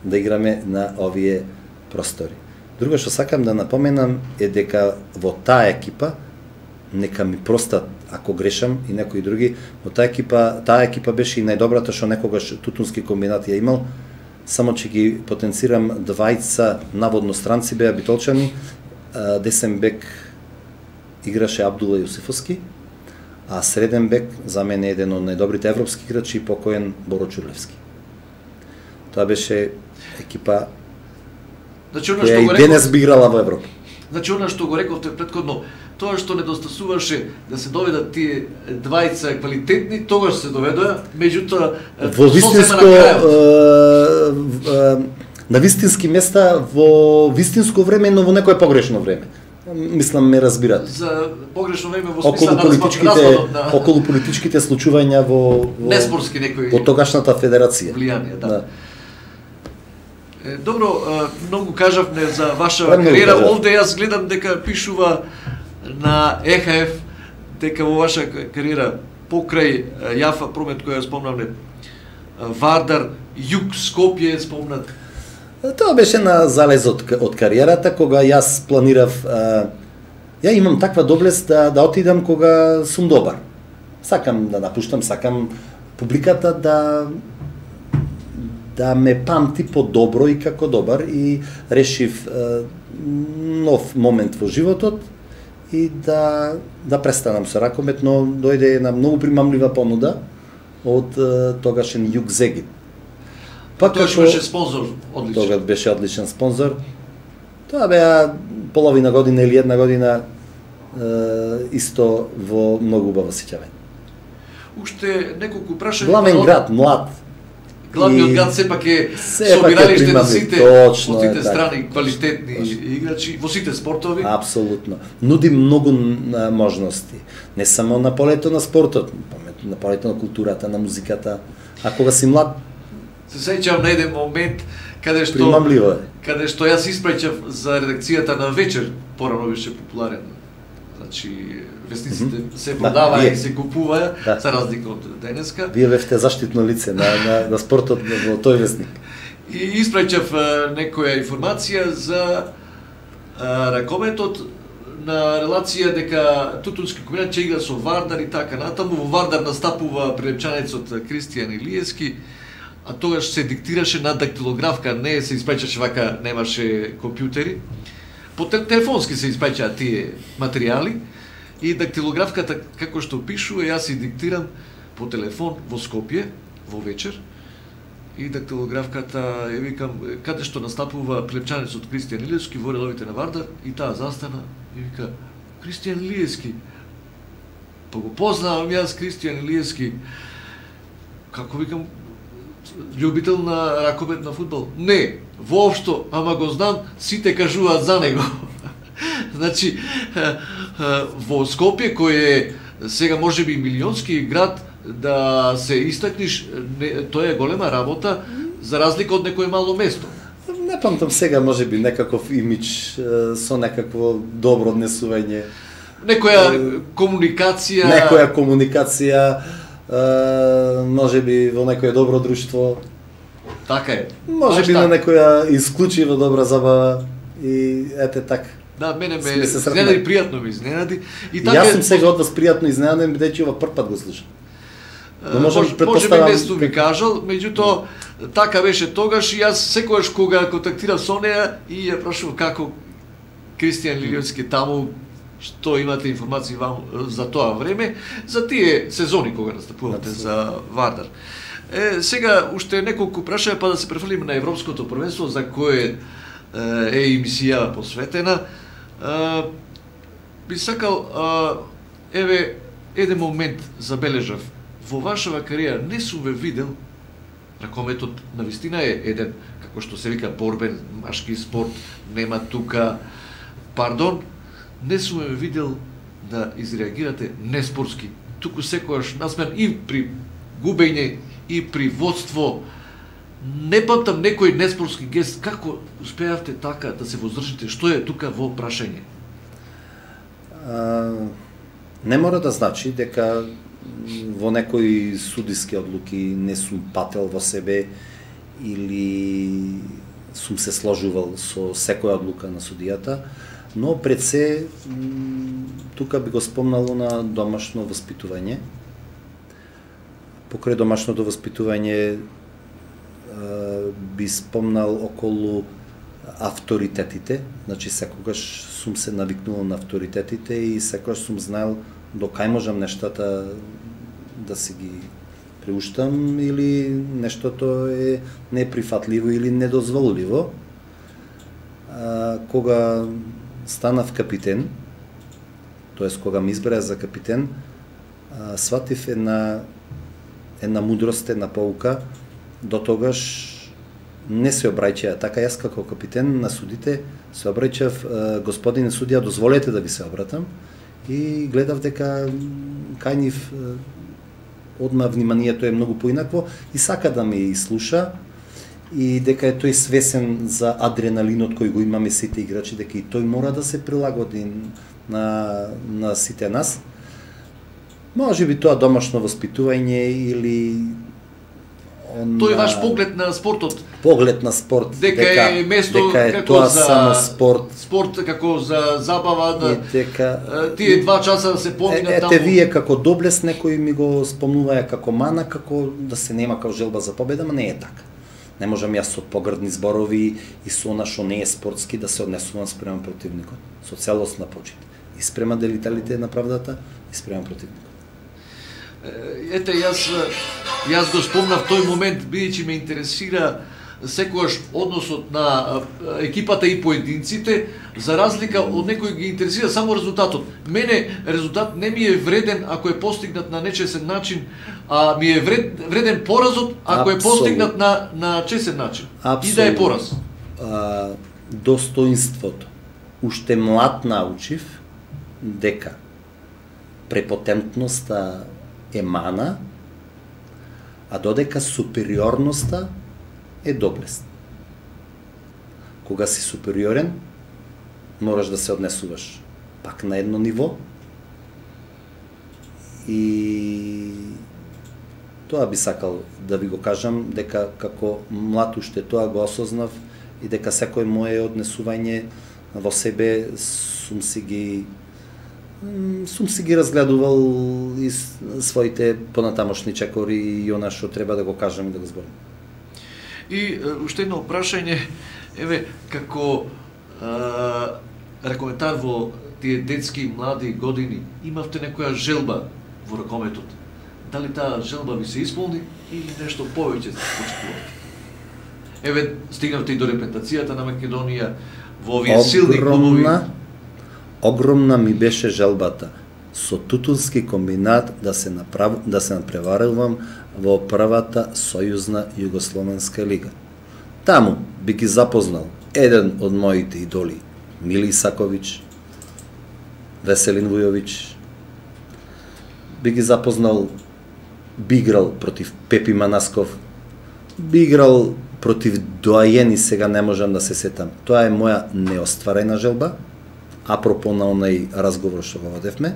да играме на овие простори. Друго што сакам да напоменам е дека во таа екипа, нека ми простат ако грешам и некои други, во таа екипа беше и најдобрата што некогаш Тутунски комбинат ја имал, само че ги потенцирам двајца наводно странци беа битолчани, десен бек играше Абдула Јусифовски, а среден бек за мене еден од најдобрите европски играчи покоен Боро Чурлевски. Тоа беше екипа која и денес би играла во Европа. Значи, она што го рековте предходно, тоа што недостасуваше да се доведат тие двајца квалитетни, тогаш се доведоа, меѓутоа во вистинско на вистински места во вистинско време, но во некое погрешно време. Мислам ме разбирате. За погрешно време во смисла на распадот на околу политичките случувања во неспорски некои во тогашната федерација. Влијание, да. Добро, многу кажавме за ваша кариера. Овде јас гледам дека пишува на ЕХФ дека во ваша кариера покрај Јафа Промет која спомнавме, Вардар, Југ, Скопје спомнат. Тоа беше на залезот од кариерата кога јас планирав ја имам таква доблест да отидам кога сум добар. Сакам да напуштам, сакам публиката да ме памти по-добро и како добар и решив нов момент во животот и да престанам со ракомет, но дојде една многу примамлива понуда од тогашен Југ Зегин. Тогаш беше спонзор одличен. Тогаш беше одличен спонзор. Тоа беа половина година или една година исто во многу убаво сеќавање. Уште неколку прашања. Главен град, млад. Главниот град сепак е собиралиште на сите страни квалитетни играчи, во сите спортови. Апсолутно. Нуди многу можности. Не само на полето на спортот, на полето на културата, на музиката. А кога си млад, се сеќавам на еден момент каде што јас испраќав за редакцијата на Вечер, порано беше популарен. Значи вестниците се продаваа и се купуваа, за разлика од денеска. Вие бевте заштитно лице на спортот во тој вестник. И испраќав некоја информација за ракометот на релација дека Тутунски комбинат ќе игра со Вардар и така натаму. Во Вардар настапува прилепчанецот Кристијан Илиевски, а тогаш се диктираше на дактилографка, не се испечаше вака, немаше компјутери. По телефонски се испечаа тие материјали и дактилографката како што пишува, јас си диктирам по телефон во Скопје во вечер и дактилографката ја викам каде што настапува плепчанецот Кристијан Илиевски во редовите на Вардар и таа застана и вика Кристијан Илиевски. Па го познавам јас Кристијан Илиевски. Како викам љубител на ракомет на фудбал? Не, воопшто, ама го знам, сите кажуваат за него. Значи, во Скопје, кој е сега можеби милионски град, да се истакниш, тоа е голема работа, за разлика од некое мало место. Не памтам сега, можеби, некаков имидж со некакво добро однесување. Некоја комуникација... Некоја комуникација, можеби во некое добро друштво. Така е. Можеби на некоја исклучиво добра забава и ете така. Да, мене ме изненади, пријатно ме изненади. И така јас сум сега од вас пријатно изненаден, бидејќи ова прв пат го слушам. Можеби нешто ви кажал, меѓутоа така беше тогаш и јас секогаш кога контактирав со неа и ја прашував како Кристијан Илиевски таму, што имате информации вам за тоа време, за тие сезони кога настапувате за Вардар. Сега уште неколку прашања па да се префрлиме на Европското првенство за кое е емисија посветена. Би сакал еве еден момент забележав. Во вашава кариера не сум ве видел, ракометот навистина е еден, како што се вика, борбен машки спорт, нема тука пардон, не сум ве видел да изреагирате неспортски. Туку секогаш насмен и при губење и при водство. Не памтам некој неспортски гест. Како успеавте така да се воздржите? Што е тука во прашање? Не мора да значи дека во некои судиски одлуки не сум пател во себе или сум се сложувал со секоја одлука на судијата, но пред се тука би го спомнало на домашно воспитување. Покрај домашното воспитување би спомнал околу авторитетите, значи секогаш сум се навикнувал на авторитетите и секогаш сум знаел до кај можам нештата да си ги преуштам или нештото е неприфатливо или недозволиво. Кога станав капитен, тоест кога ме избраа за капитен, сватив една мудрост, една поука. До тогаш не се обраќаа така. Јас како капитен на судите се обраќав: господине судија, дозволете да ви се обратам, и гледав дека кај нив одма вниманието е многу поинакво и сака да ме слуша и дека е тој свесен за адреналинот кој го имаме сите играчи, дека и тој мора да се прилагоди на сите нас. Може би тоа домашно воспитување или тој ваш поглед на спортот. Поглед на спорт. Дека е место дека како тоа за само спорт. Спорт како за забава, да дека тие 2 часа да се поминат таму. Ете вие како доблес некои ми го спомнуваја како мана, како да се нема како желба за победа, но не е така. Не можам јас со погрдни зборови и со она што не е спортски да се однесувам спрема противникот. Со целосна почит. И спрема делителите на правдата, и спрема противникот. Ете, јас го спомнав тој момент, бидејќи ме интересира секогаш односот на екипата и поединците, за разлика од некој ги интересира само резултатот. Мене резултат не ми е вреден ако е постигнат на нечесен начин, а ми е вреден поразот ако е постигнат на чесен начин. И да е пораз. Достоинството. Уште млад научив дека препотентноста е мана, а додека супериорноста е доблест. Кога си супериорен, мораш да се однесуваш пак на едно ниво и тоа би сакал да ви го кажам, дека како млад уште тоа го осознав и дека секој мое однесување во себе сум си ги разгледувал и своите понатамошни чекори и она што треба да го кажам и да го зборам. И уште едно прашање, еве, како ракометар во тие детски и млади години, имавте некоја желба во ракометот? Дали таа желба ви се исполни или нешто повеќе се очекувате? Еве, стигнавте и до репрезентацијата на Македонија во овие силни клубови. Огромна ми беше желбата со Тутунски комбинат да се надпреварувам во првата сојузна југословенска лига. Таму би ги запознал еден од моите идоли, Мили Исаковиќ, Веселин Вујовиќ, би ги запознал, би играл против Пепи Манасков, би играл против доајени, сега не можам да се сетам. Тоа е моја неостварена желба, апропо на онај разговор што го водевме.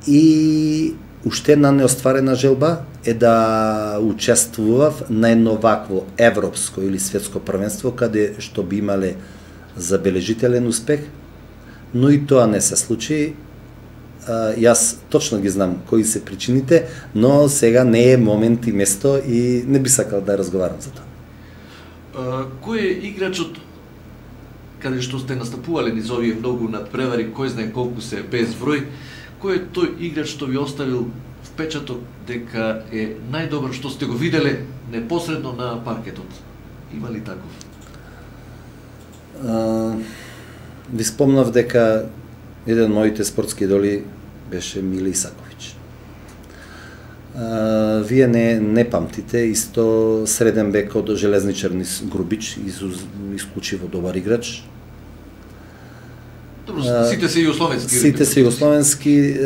И уште една неостварена желба е да учествував на едно вакво европско или светско првенство каде што би имале забележителен успех, но и тоа не се случи. Јас точно ги знам кои се причините, но сега не е момент и место и не би сакал да разговарам за тоа. Кој е играчот каде што сте настапувале низ овие многу надпревари, кој знае колку се без број, кој е тој играч што ви оставил впечаток дека е најдобар што сте го виделе непосредно на паркетот? Има ли таков? Ви спомнав дека еден моите спортски идоли беше Мили Исаковиќ. Вие не памтите, исто среден бек од Железничар низ Грубич, исклучиво добар играч. Добро, сите се југословенски. Сите се југословенски,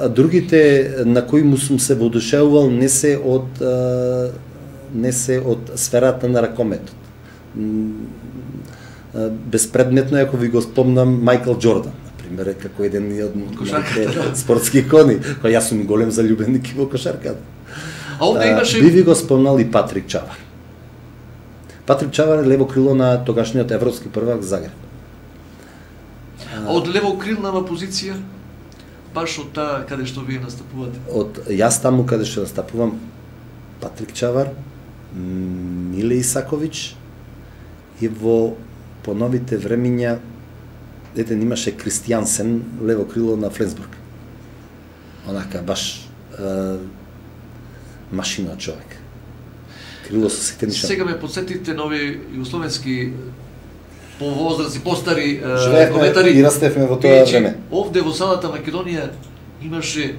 а другите на кои му сум се воодушевувал не се од сферата на ракометот. Безпредметно, ако ви го спомнам, Мајкл Џордан, например, како еден од моите спортски икони, кој јас сум голем заљубеник во кошарката. А овде имаше... Би ви го спомнал и Патрик Чавар. Патрик Чавар е лево крило на тогашниот европски првак Загреб. А од левокрилнава позиција, баш од таа каде што вие настапувате? Од јас таму каде што настапувам, Патрик Чавар, Миле Исаковиќ и во поновите времиња еден имаше Кристијансен, лево крило на Фленсбург. Онака баш машина човек. Крило со сите нишани. Сега ме подсетите на овие југословенски по возраст и постари коментари и растевме во тоа време. Овде во самата Македонија имаше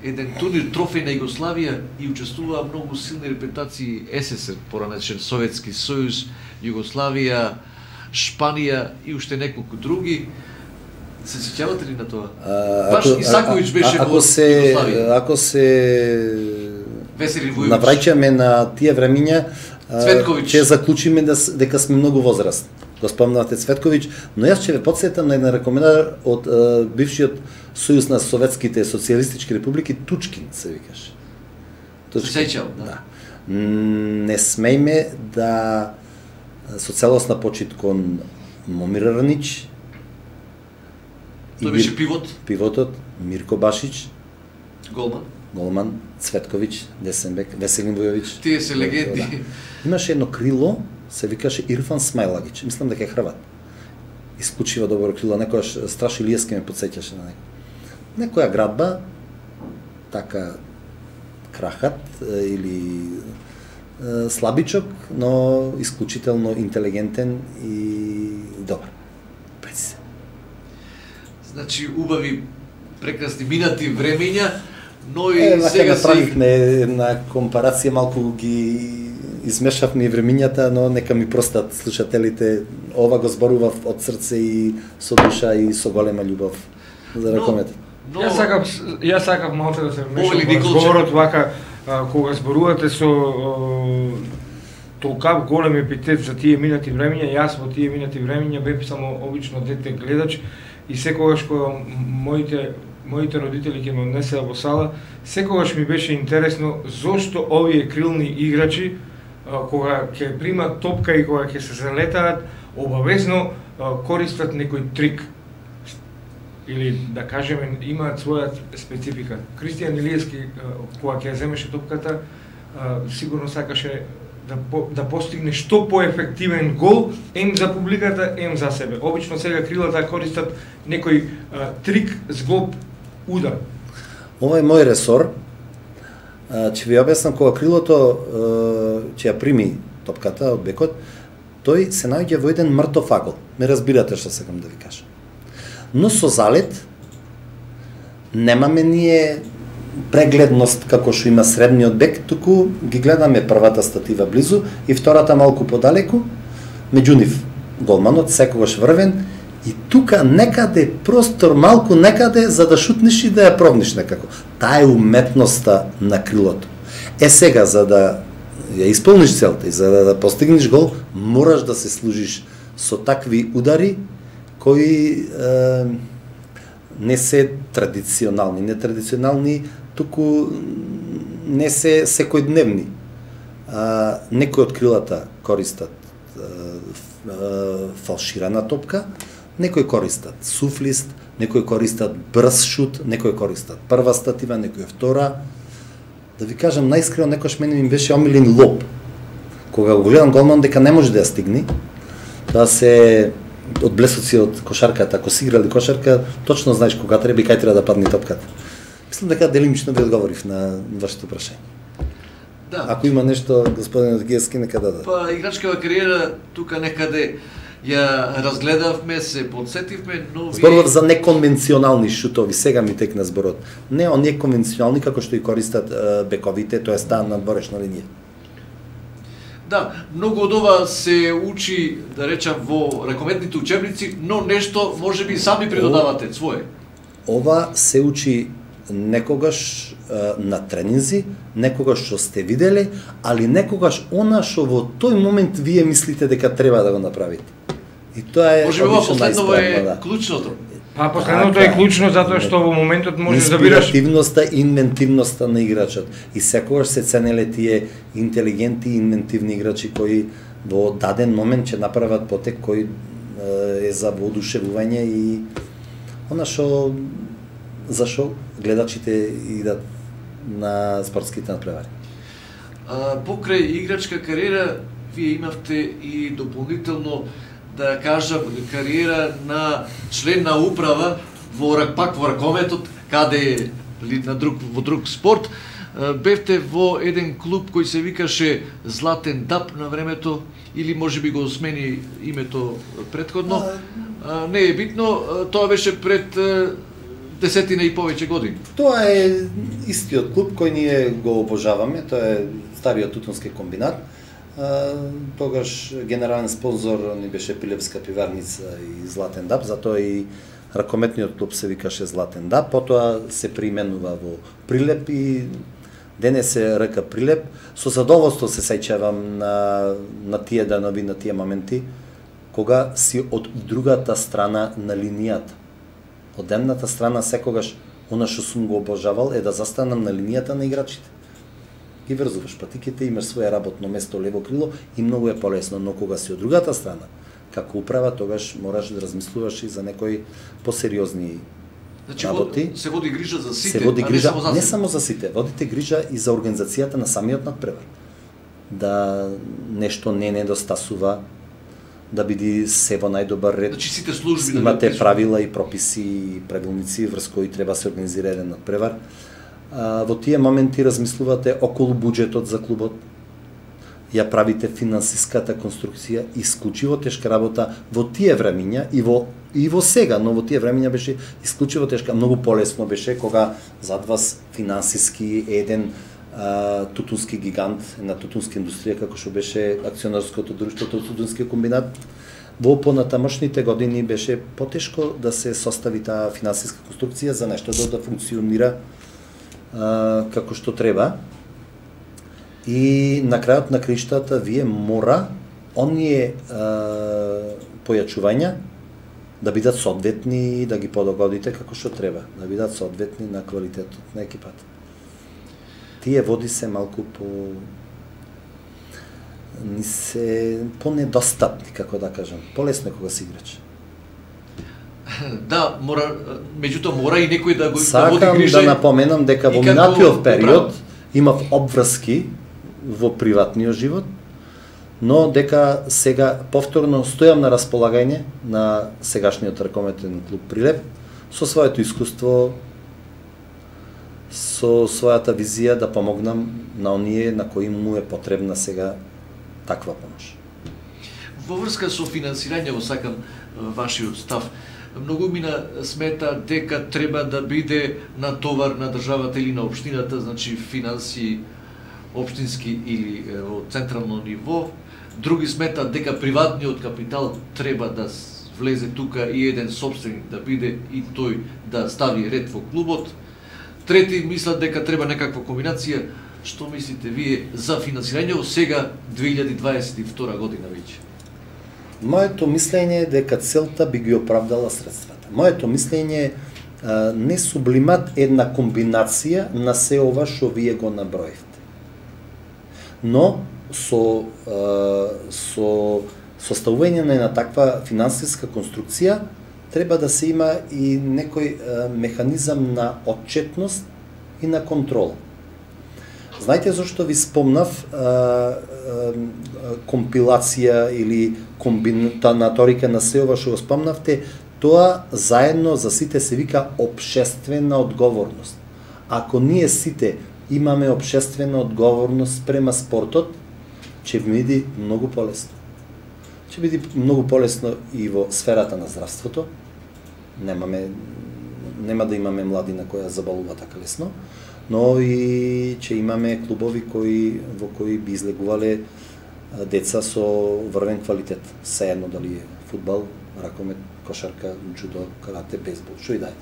еден турнир трофеј на Југославија и учествуваа многу силни репрезентации СССР, поранечен Советски сојуз, Југославија, Шпанија и уште неколку други. Се сеќавате ли на тоа? Баш Исаковиќ беше во Југославија. Ако се Веселин Вујовиќ навраќаме на тие времиња, Цветковиќ, ќе заклучиме дека сме многу возраст. Го спомнавте Цветковиќ, но јас ќе ве потсетам на еден ракометар од бившиот Сојуз на Советските социјалистички републики, Тучкин се викаше. Се сеќав, да. Не смејме да со целосна почит кон Момир Рнич. Тој беше пивот. Пивотот, Мирко Башич, голман, Цветковиќ, десен бек, Веселин Вујовиќ. Тие се легенди. Да. Имаше едно крило, се викаше Ирфан Смајлагиќ. Мислам дека е хрват. Исклучиво добро крило, некојаш Страш Илиевски ме потсеќаше на него. Некоја градба, така крахат или слабичок, но исклучително интелигентен и добар. Преди се. Значи, убави, прекрасни минати времења, но и сега се... Направихме една компарација, малку ги измешавме и времињата, но нека ми простат слушателите, ова го зборував од срце и со душа и со голема љубов за ракометот. Јас сакав малку да се вмешам во разговорот вака, кога зборувате со толкав голем епитет за тие минати времиња, јас во тие минати времиња бев само обично дете гледач и секогаш кога моите родители ќе ме однесеа во сала, секогаш ми беше интересно зошто овие крилни играчи кога ќе примат топка и кога ќе се залетаат, обавезно користат некој трик. Или да кажеме имаат своја специфика. Кристијан Илиевски кога ќе земеше топката, сигурно сакаше да постигне што поефективен гол, ем за публиката, ем за себе. Обично сега крилата користат некој трик, зглоб, удар. Ова е мој ресор. Ќе ви објаснам кога крилото ќе ја прими топката од бекот, тој се наоѓа во еден мртов агол. Ме разбирате што сакам да ви кажам. Но со залет немаме ние прегледност како што има средниот бек, туку ги гледаме првата статива близу и втората малку подалеку, меѓу нив голманот секогаш врвен и тука некаде простор малку некаде за да шутнеш и да ја пробниш некако. Таа е уметноста на крилото. Сега за да ја исполниш целта и за да постигнеш гол, мораш да се служиш со такви удари кои не се традиционални, нетрадиционални, туку не се секојдневни. Некои од крилата користат фалширана топка, некои користат суфлист, некои користат брз шут, некои користат прва статива, некои втора. Да ви кажам, најискрено некојаш мене ми беше омилен лоб. Кога го гледам голман дека не може да ја стигне, да се од блесоци од кошарката, ако си играли кошарка, точно знаеш кога треба и кај треба да падне топката. Мислам дека делимично ви одговорив на вашето прашање. Да. Ако има нешто, господин Одгиевски, нека даде. Па играчкава кариера тука некаде ја разгледавме, се подсетивме, но Зборував за неконвенционални шутови, сега ми текна зборот. Не оние конвенционални како што и користат бековите, тоа е стан на дворешна линија. Да, многу од ова се учи, да речам, во ракометните учебници, но нешто можеби сами придодавате свое. Ова се учи некогаш на тренинзи, некогаш што сте виделе, али некогаш она што во тој момент вие мислите дека треба да го направите. И тоа е можеби ова последново е да. клучното. Па последното е клучно затоа што во моментот можеш да бираш инспиративноста и инвентивноста на играчот. И секогаш се ценеле тие интелигентни и инвентивни играчи кои во даден момент ќе направат потек кој е за воодушевување и она што зашо гледачите идат на спортските надпревари. Покрај играчка кариера, вие имавте и дополнително, да кажам, кариера на член на управа пак во ракометот, каде во друг спорт. Бевте во еден клуб кој се викаше Златен даб на времето, или можеби го смени името претходно. Не е битно, тоа беше пред десетина и повеќе години. Тоа е истиот клуб кој ние го обожаваме, тоа е стариот тутунски комбинат. Тогаш генерален спонзор ни беше Пилевска пиварница и Златен даб, затоа и ракометниот клуб се викаше Златен даб, потоа се преименува во Прилеп и денес е РК Прилеп. Со задоволство се сеќавам на тие данови, на тие моменти, кога си од другата страна на линијата. Од едната страна секогаш она што сум го обожавал е да застанам на линијата на играчите. Ги врзуваш патиките, имаш свое работно место лево крило и многу е полесно, но кога си од другата страна, како управа, тогаш мораш да размислуваш и за некои посериозни работи. Се води грижа за сите, се води грижа, не само за не само за сите, водите грижа и за организацијата на самиот надпревар. Да нешто не недостасува, да биде се во најдобар ред. Значи сите служби имате правила и прописи и правилници врз кои треба се организира еден надпревар. Во тие моменти размислувате околу буџетот за клубот, ја правите финансиската конструкција, исклучиво тешка работа во тие времиња и во сега, но во тие времиња беше исклучиво тешка, многу полесно беше кога зад вас финансиски еден тутунски гигант на тутунска индустрија како што беше акционерското друштво Тутунски комбинат. Во понатамошните години беше потешко да се состави таа финансиска конструкција за нешто да функционира како што треба. И на крајот на криштата вие мора оние појачувања да бидат соодветни и да ги подогодите како што треба, да бидат соодветни на квалитетот на екипата. Тие води се малку по недостапни, како да кажам, полесно кога си играч. Да, меѓутоа мора и некој да го да води грижа. Сакам да напоменам дека во минатиот период имав обврски во приватниот живот, но дека сега повторно стојам на располагање на сегашниот ракометен клуб Прилеп со своето искуство, со својата визија да помогнам на оние на кои му е потребна сега таква помош. Во врска со финансирање, сакам вашиот став. Многу мина смета дека треба да биде натовар на државата или на општината, значи финанси општински или во централно ниво. Други сметат дека приватниот капитал треба да влезе тука и еден собственик да биде и тој да стави ред во клубот. Трети мислат дека треба некаква комбинација. Што мислите вие за финансирање сега 2022 година веќе? Моето мислење е дека целта би ги оправдала средствата. Моето мислење е не сублимат една комбинација на се ова што вие го наброивте. Но со составување на една таква финансиска конструкција треба да се има и некој механизам на отчетност и на контрола. Знаете зашто ви спомнав компилација или комбинаторика на се ова што го спомнавте, тоа заедно за сите се вика општествена одговорност. Ако ние сите имаме општествена одговорност према спортот, ќе биде многу полесно. Ќе биде многу полесно и во сферата на здравството. Нема да имаме младина која заболува така лесно, но и ќе имаме клубови во кои би излегувале деца со врвен квалитет. Сеедно дали е фудбал, ракомет, кошарка, џудо, карате, бейсбол, што и да е.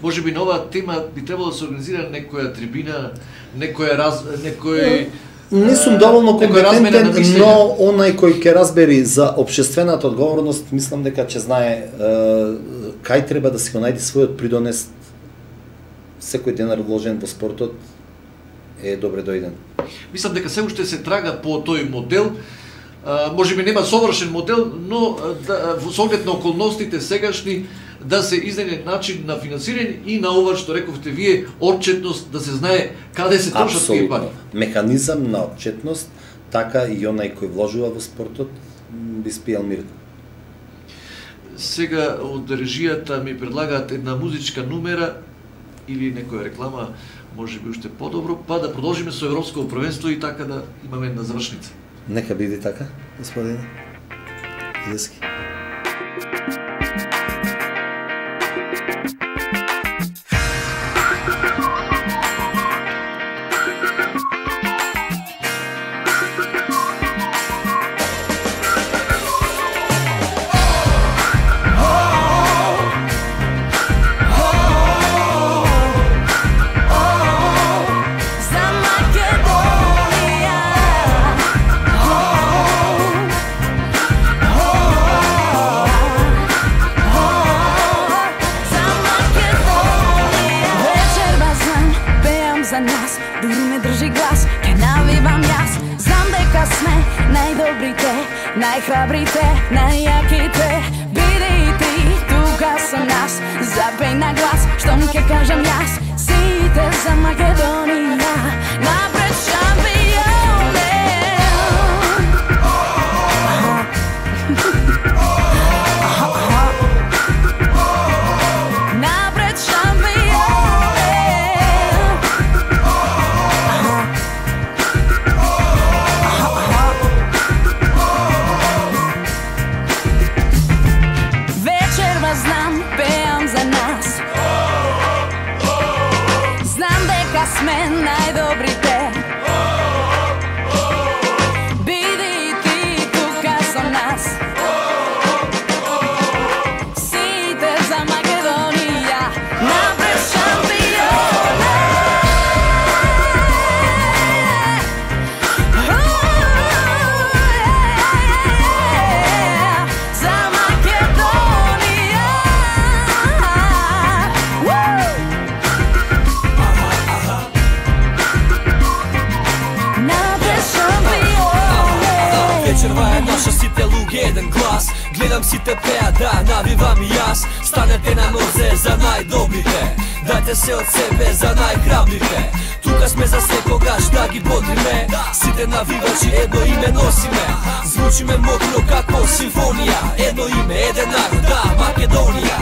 Може би на оваа тема би требало да се организира некоја трибина, некој Не сум доволно компетентен, но онај кој ќе разбери за општествената одговорност, мислам дека ќе знае кај треба да си го најде својот придонес. Секој денар вложен во спортот е добре дојден. Мислам дека се уште се трага по тој модел. Може би нема совршен модел, но со оглед на околностите сегашни да се изнајде начин на финансирање и на ова што рековте вие, отчетност, да се знае каде се трошат тие пари. Механизам на отчетност, така и онај кој вложува во спортот би спијал мирно. Сега од режијата ми предлагаат една музичка numera или некоја реклама, може би уште подобро, па да продолжиме со Европско првенство и така да имаме една завршница. Нека биде така, господине Илевски. За нас, дури ме држи глас, ке навивам јас. Знам дека сме најдобрите, најхрабрите, најјаките. Биде и ти, тука со нас, запеј на глас, штом ке кажам јас. Сите за Македонија, напред шампионе. Напред шампионе. Сме најдобрите, држава е наша, сите луѓе еден глас. Гледам сите пеа, да, навивам и јас. Станете на нозе за најдобрите, дајте се од себе за најхрабрите. Тука сме за секогаш да ги бодриме, сите навивачи едно име носиме. Звучиме мокро како симфонија, едно име, еден народ, да, Македонија.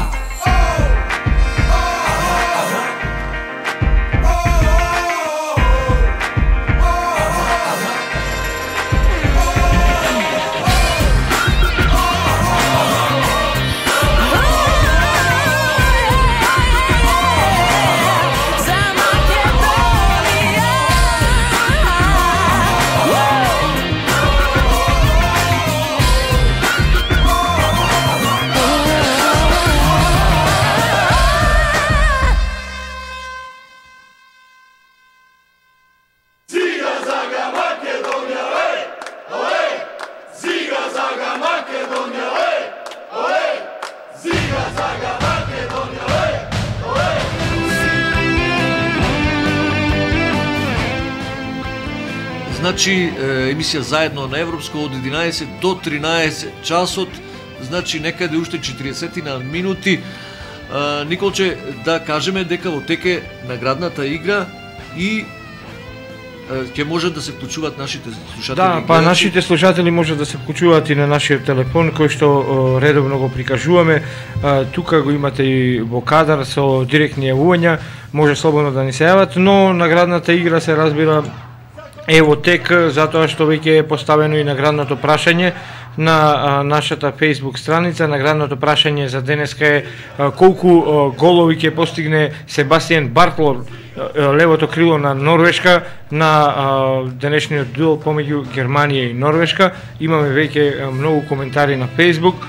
Значи, емисија заедно на Европско од 11 до 13 часот, значи некаде уште 40 на минути. Николче, да кажеме дека во теке наградната игра и ќе можат да се вклучуваат нашите слушатели. Да, па нашите слушатели можат да се вклучуваат и на нашиот телефон кој што редовно го прикажуваме. Тука го имате и во кадар со директни јавувања, може слободно да ни се јават, но наградната игра се разбира ево тек, затоа што веќе е поставено и наградното прашање на нашата Facebook страница. Наградното прашање за денеска е колку голови ќе постигне Себастијан Бартлор, левото крило на Норвешка, на денешниот дуел помеѓу Германија и Норвешка. Имаме веќе многу коментари на Facebook.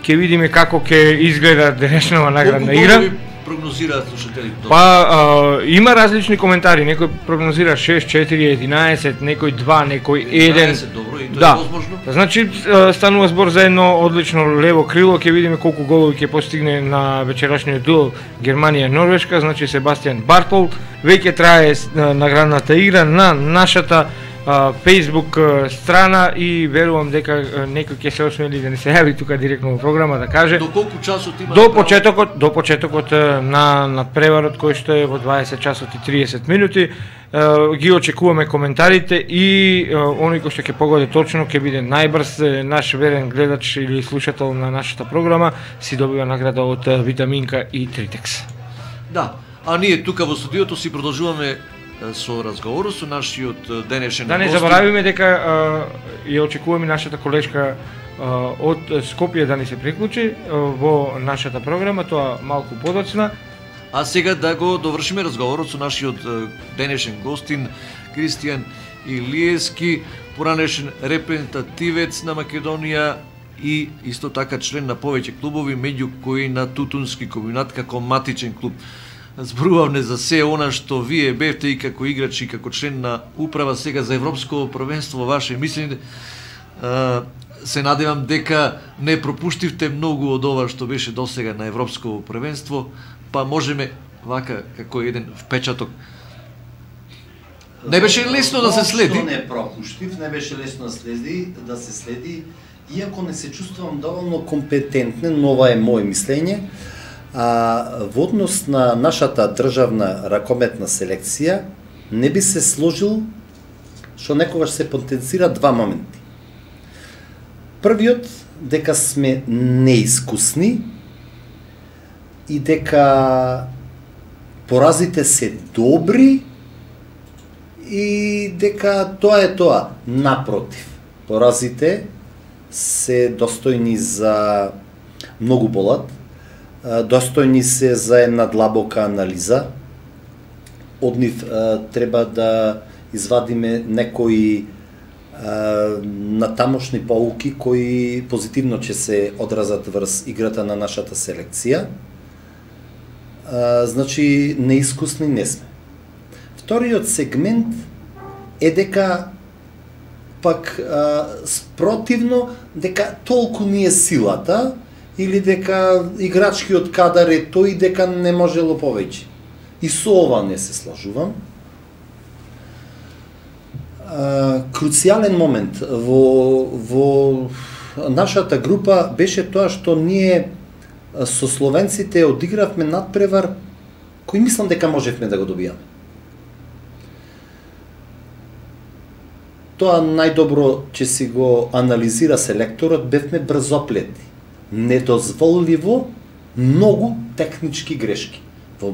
Ќе видиме како ќе изгледа денешната наградна игра. Прогнозираат слушателите? Па има различни коментари, некој прогнозира 6, 4, 11, некој 2, некој 1. 11, добро, и тоа да. е возможно. Значи станува збор за едно одлично лево крило, ќе видиме колку голови ќе постигне на вечерашниот дуел Германија-Норвешка, значи Себастијан Бартол. Веќе трае наградната игра на нашата Facebook страна и верувам дека некој ќе се осмели да не се јави тука директно во програма да каже до колку часот има до почетокот на преварот кој што е во 20 часот и 30 минути. Ги очекуваме коментарите и оној кој што ќе погоди точно ќе биде најбрз. Наш верен гледач или слушател на нашата програма си добива награда од Витаминка и Тритекс. Да, а ние тука во студиото си продолжуваме со разговорот со нашиот денешен гост. Да не заборавиме дека ја очекуваме нашата колешка од Скопје да ни се приклучи во нашата програма, тоа малку подоцна. А сега да го довршиме разговорот со нашиот денешен гостин Кристијан Илиевски, поранешен репрезентативец на Македонија и исто така член на повеќе клубови, меѓу кои на Тутунски комбинат како матичен клуб. Зборувавме за се она што вие бевте и како играч и како член на управа сега за Европско првенство. Ваше мислење, се надевам дека не пропуштивте многу од ова што беше досега на Европско првенство, па можеме вака како еден впечаток. Не беше лесно да се следи. Не пропуштив, не беше лесно да се следи, иако не се чувствувам доволно компетентен, но ова е моје мислење. Во однос на нашата државна ракометна селекција не би се сложил што некогаш се потенцира два моменти. Првиот, дека сме неискусни и дека поразите се добри и дека тоа е тоа. Напротив, поразите се достојни за многу болат, достојни се за една длабока анализа. Од нив треба да извадиме некои натамошни поуки кои позитивно ќе се одразат врз играта на нашата селекција. Значи, неискусни не сме. Вториот сегмент е дека пак спротивно дека толку ни е силата или дека играчкиот кадар е тој дека не можело повеќе. И со ова не се сложувам. Круцијален момент во нашата група беше тоа што ние со словенците одигравме надпревар кој мислам дека можевме да го добијаме. Тоа најдобро че си го анализира селекторот, бевме брзоплети. Недозволиво многу технички грешки. Во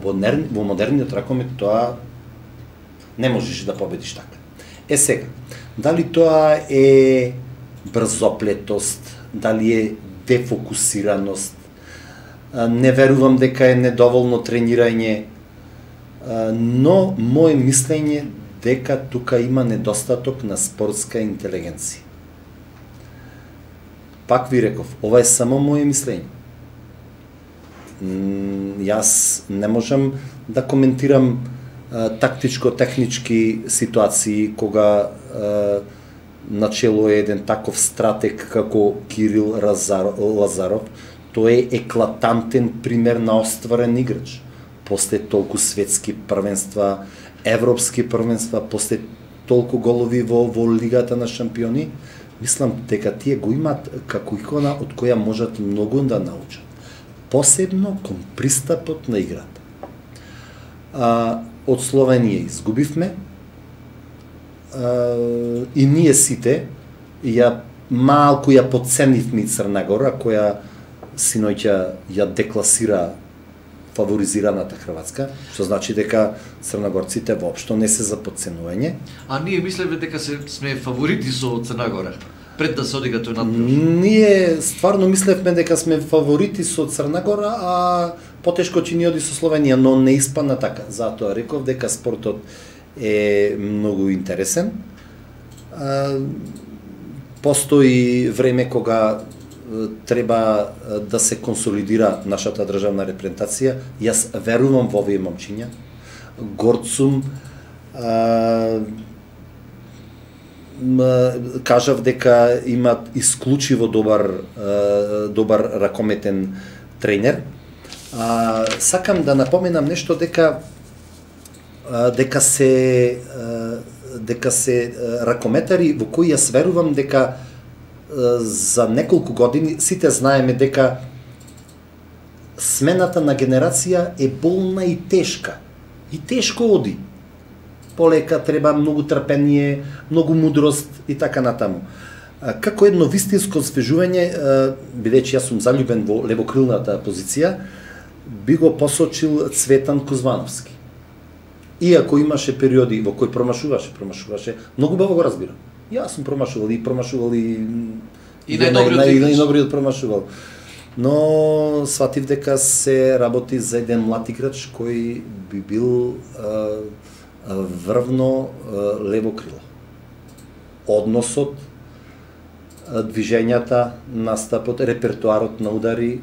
модерниот ракомет тоа не можеш да победиш така. Сега, дали тоа е брзоплетост, дали е дефокусираност, не верувам дека е недоволно тренирање, но моје мислење дека тука има недостаток на спортска интелигенција. Пак ви реков, ова е само моје мислење. Јас не можам да коментирам тактичко-технички ситуации кога начело е еден таков стратег како Кирил Лазаров. Тој е еклатантен пример на остварен играч. После толку светски првенства, европски првенства, после толку голови во Лигата на шампиони, мислам дека тие го имаат како икона од која можат многу да научат. Посебно кон пристапот на играта. Од Словенија изгубивме и ние сите малку ја подценивме Црна Гора, која синоќа ја декласира фаворизираната Хрватска, што значи дека црногорците воопшто не се за подценување. А ние мислеме дека сме фаворити со Црна Гора, пред да се одига тој надпревар. Ние стварно мислевме дека сме фаворити со Црна Гора, а потешко ќе ни оди со Словенија, но не испадна така. Затоа реков дека спортот е многу интересен. Постои време кога треба да се консолидира нашата државна репрезентација. Јас верувам во овие момчиња. Горд сум, кажав дека имат исклучиво добар ракометен тренер. Сакам да напоменам нешто дека се ракометари во кои јас верувам дека за неколку години сите знаеме дека смената на генерација е болна и тешка. И тешко оди. Полека треба многу трпение, многу мудрост и така натаму. Како едно вистинско освежување, бидејќи јас сум заљубен во левокрилната позиција, би го посочил Цветан Кузмановски. Иако имаше периоди во кои промашуваше, многу баво го разбирам. Јас сум промашувал и најдобриот промашувал. Но сватив дека се работи за еден млад играч кој би бил врвно лево крило. Односот, движењата, настапот, репертуарот на удари,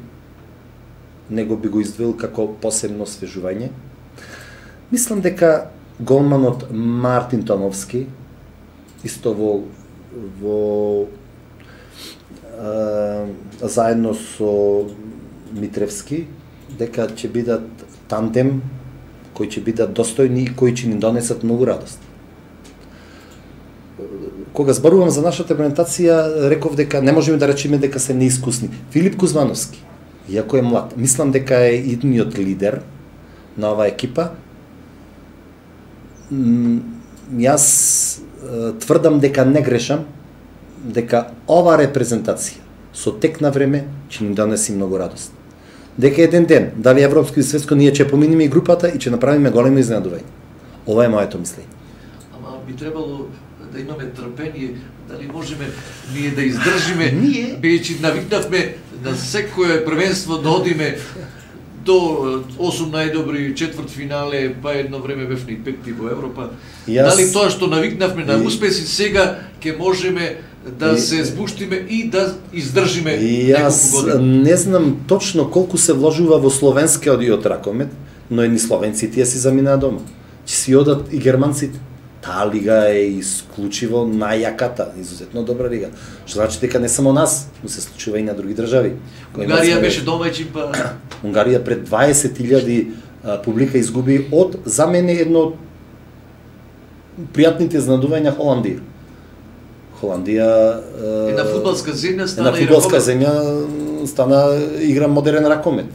него би го издвоил како посебно освежување. Мислам дека голманот Мартин Томовски, исто во заедно со Митревски, дека ќе бидат тандем кои ќе бидат достојни и кои ќе ни донесат многу радост. Кога зборувам за нашата репрезентација, реков дека не можеме да речеме дека се неискусни. Филип Кузмановски, иако е млад, мислам дека е идниот лидер на оваа екипа. Јас тврдам дека не грешам, дека ова репрезентација со тек на време ќе ни донеси многу радост. Дека еден ден, дали европско и светско, ние ќе поминиме и групата и ќе направиме големо изненадување. Ова е моето мислење. Ама би требало да имаме трпение, дали можеме ние да издржиме, бидејќи навикнавме на секое првенство да одиме до 8 најдобри, четвртфинале, па едно време бевме и петти во Европа. Дали тоа што навикнавме на успеси сега ќе можеме да се збуштиме и да издржиме неколку години? Не знам точно колку се вложува во словенскиот ракомет, но едни словенци тие си заминаа дома. Ќе си одат и германците. Таа лига е исклучиво најјаката, изузетно добра лига. Што значи дека не само нас, но се случува и на други држави. Унгарија беше домаќин, па Унгарија пред 20.000 публика изгуби од, за мене, едно пријатните изненадувања Холандија. Холандија една фудбалска земја стана една фудбалска земја стана игра модерен ракомет.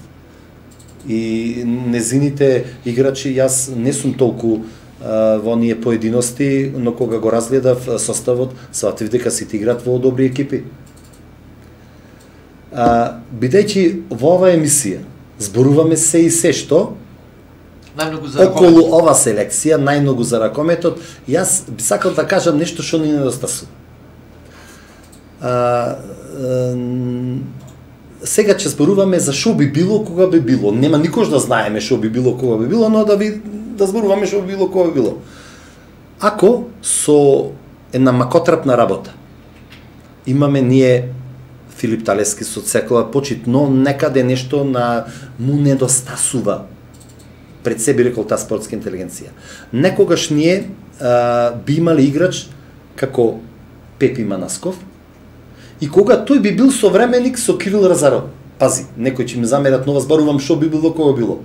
И незините играчи, јас не сум толку во оние поединости, но кога го разгледав составот, сватив дека сите играат во добри екипи. Бидејќи во оваа емисија зборуваме се и се што најмногу за околу ова селекција, најмногу за ракометот, јас би сакал да кажам нешто што ни недостасува. Сега ќе зборуваме за што би било кога би било. Нема никош да знаеме што би било кога би било, но да зборуваме што би било кога би било. Ако со една макотрапна работа имаме ние Филип Талески со секоја почит, но некаде нешто му недостасува. Пред себе рекол таа спортска интелигенција. Некогаш ние би имали играч како Пепи Манасков, и кога тој би бил современик со Кирил Разаров. Пази, некој ќе ми замерат, но зборувам што би било кога било.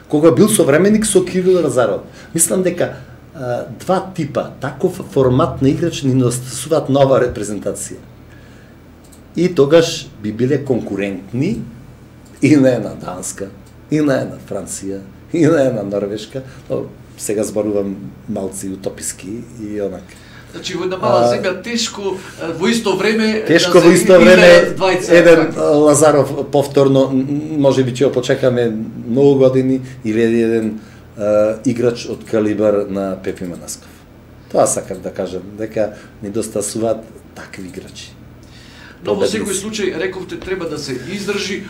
Кога бил современик со Кирил Разаров. Мислам дека два типа, таков формат на играч ни недостасуваат нова репрезентација. И тогаш би биле конкурентни и на една Данска, и на една Франција, и на една Норвешка. Но сега зборувам малци утописки и онак. Значи во една мала земја тешко во исто време тешко во исто време еден Лазаров повторно можеби ќе го почекаме многу години или еден играч од калибар на Пепи Манасков. Тоа сакам да кажам, дека недостасуваат такви играчи. Но во секој случај рековте треба да се издржи,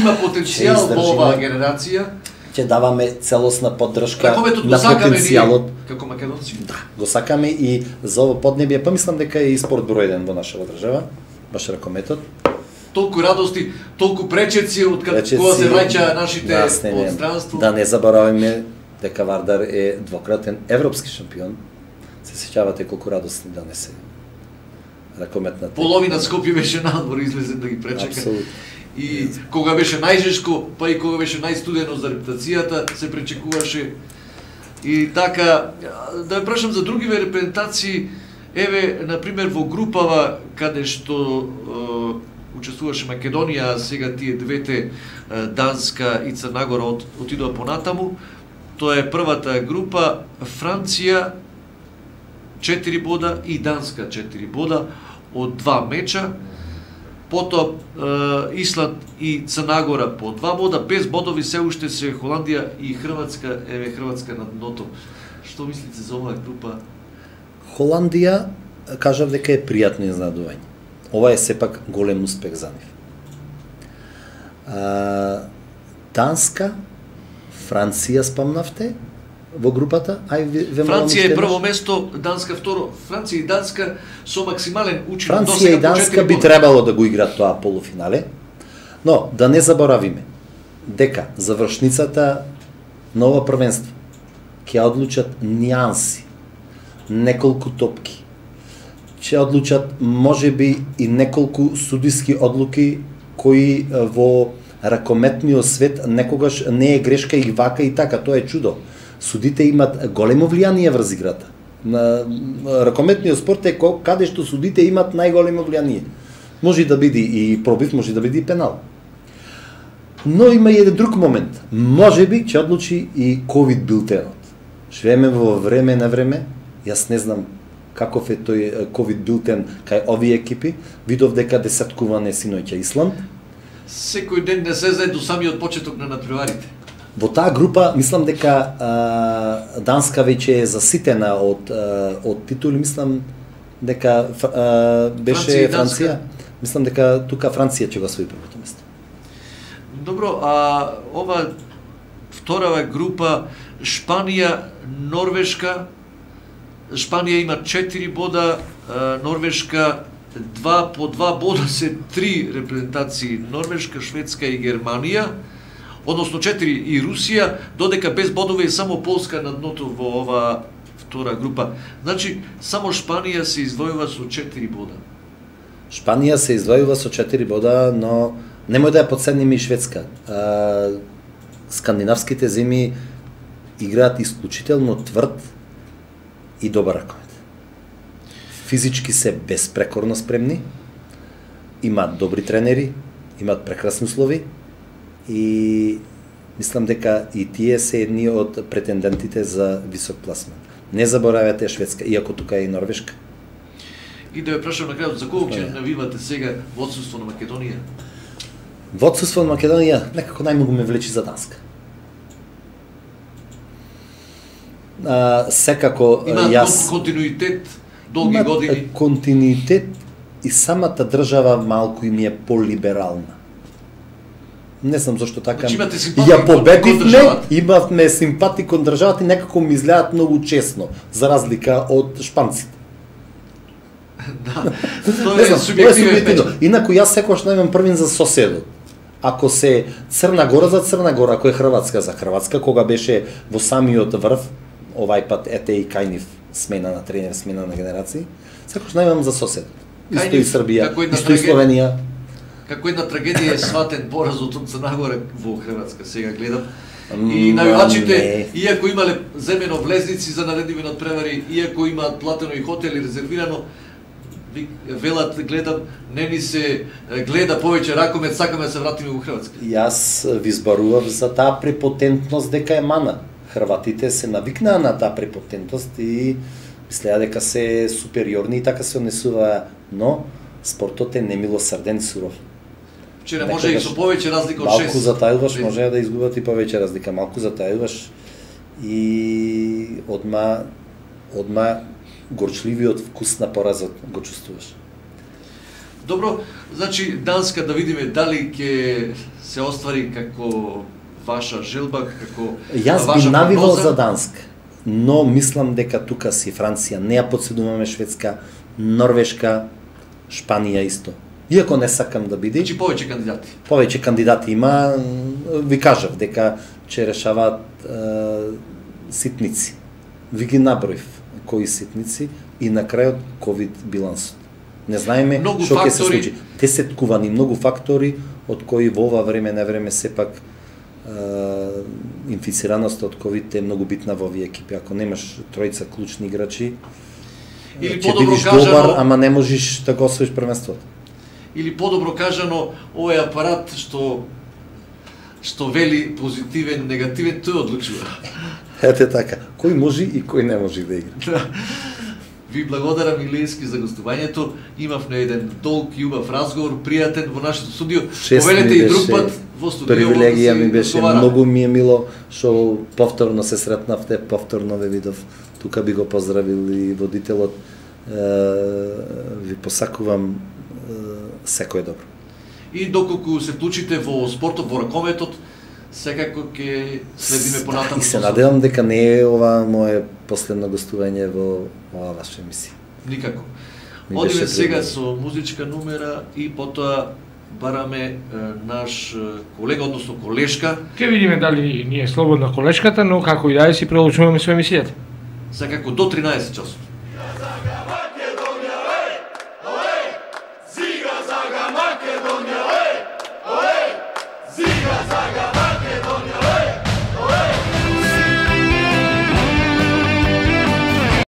има потенцијал во оваа генерација. Ќе даваме целосна поддршка на потенцијалот. Како македонци. Да, го сакаме и за ово поднебје, па мислам дека е и спорт број 1 во нашава држава, баш ракометот. Толку радости, толку пречеци од кога се враќа нашите од странство. Да не забораваме дека Вардар е двократен европски шампион. Се сеќавате колку радосни донесе ракометната. Половина Скопје беше надвор излезе да ги пречека. Апсолутно. И кога беше најжешко, па и кога беше најстудено за репутацијата, се пречекуваше. И така, да ве прашам за другиве репрезентации, еве, например, во групава каде што учествуваше Македонија, сега тие двете, Данска и Црна Гора отидоа понатаму, тоа е првата група, Франција 4 бода и Данска 4 бода од 2 меча, потоа Исланд и Црна Гора по 2 бода, без бодови се уште се Холандија и Хрватска, еве Хрватска на дното. Што мислите за оваа група? Холандија, кажав дека е пријатно изненадување. Ова е сепак голем успех за нив. Данска, Франција спомнавте во групата? Франција е прво место, Данска второ. Франција и Данска со максимален учинок. Франција и Данска би требало да го играат тоа полуфинале, но да не заборавиме дека завршницата на ова првенство ќе одлучат нијанси, неколку топки, ќе одлучат можеби и неколку судиски одлуки кои во ракометниот свет некогаш не е грешка и вака и така, тоа е чудо. Судите имат големо влијание врз играта. На ракометниот спорт е каде што судите имат најголемо влијание. Може да биде и пробив, може да биде и пенал. Но има и еден друг момент. Можеби ќе одлучи и ковид билтенот. Живееме во време на време. Јас не знам каков е тој ковид билтен кај овие екипи. Видов дека десеткуване синоќа Исланд. Секој ден не се знае до самиот почеток на надпреварите. Во таа група, мислам дека Данска веќе е заситена од титули, мислам дека беше Франција. Мислам дека тука Франција ќе го освои првото место. Добро, а ова вторава група Шпанија, Норвешка. Шпанија има 4 бода, Норвешка 2 по 2 бода се 3 репрезентации, Норвешка, Шведска и Германија. Односно 4 и Русија, додека без бодови е само Полска на дното во ова втора група. Значи, само Шпанија се извојува со 4 бода. Шпанија се извојува со 4 бода, но немој да ја подцениме и Шведска. Скандинавските земји играат исклучително тврд и добар ракомет. Физички се безпрекорно спремни, имаат добри тренери, имаат прекрасни услови и мислам дека и тие се едни од претендентите за висок пласман. Не заборавате Шведска, иако тука е и Норвешка. И да ве прашам на крајот, за кого ќе навивате сега во отсуство на Македонија? Во отсуство на Македонија некако најмногу ме влечи за Данска. Секако јас континуитет, долги години. Континуитет и самата држава малку им е полиберална. Не знам зашто така. Ја победивме, имавме симпатии кон државата и некако ми изгледаат многу честно, за разлика од шпанците. Да, тоа е субјективно. Инаку јас секогаш најмам првин за соседот. Ако се Црна Гора за Црна Гора, ако е Хрватска за Хрватска, кога беше во самиот врв, овај пат ете и Кајнив смена на тренер, смена на генерации, секогаш најмам за соседот. Исто и Србија, исто и Словенија. Како една трагедија е сватен поразот од Црна Гора во Хрватска, сега гледам. И навивачите, иако имале земено влезници за наредиви надпревари, иако имаат платено и хотели резервирано, велат, гледам, не ни се гледа повеќе ракомет, сакаме да се вратиме во Хрватска. Јас ви зборував за таа препотентност дека е мана. Хрватите се навикнаа на таа препотентност и мислеа дека се супериорни и така се однесуваа, но спортот е немилосрден, суров. Вчера може и со повеќе разлика од 6. Малку затајуваш, може да изгубат и повеќе разлика. Малку затајуваш и одма горчливиот вкус на поразот го чувствуваш. Добро, значи Данска, да видиме дали ќе се оствари како ваша желба, како јас би навивал за Данска, но мислам дека тука си Франција, не ја подседуваме Шведска, Норвешка, Шпанија исто. Иако не сакам да биде. Значи повеќе кандидати. Повеќе кандидати има, ви кажав дека ќе решаваат ситници. Ви ги наброив кои ситници и на крајот ковид билансот. Не знаеме што ќе се случи. Десеткувани многу фактори од кои во ова време на време сепак инфицираноста од ковид е многу битна во овие екипи. Ако немаш тројца клучни играчи, или ќе бидеш добар, ама не можеш да го освоиш првенството. Или подобро кажано, овој апарат што вели позитивен, негативен, тој одлучува. Ете така, кој може и кој не може да игра. Ви благодарам, Илиевски, за гостувањето. Имавме еден долг и убав разговор, пријатен во нашето студио. Повелете и друг пат во студио. Привилегија ми беше, многу ми е мило што повторно се сретнавте, повторно ве видов. Тука би го поздравил и водителот. Ви посакувам секој добро. И доколку се вклучите во спортот, во ракометот, секако ќе следиме понатаму. И се надевам дека не е ова мое последно гостување во оваа ваша емисија. Никако. Одиме сега со музичка номера и потоа бараме наш колега, односно колешка. Ке видиме дали ни е слободна колешката, но како и да е си продолжуваме со емисијата. Секако до 13 часот.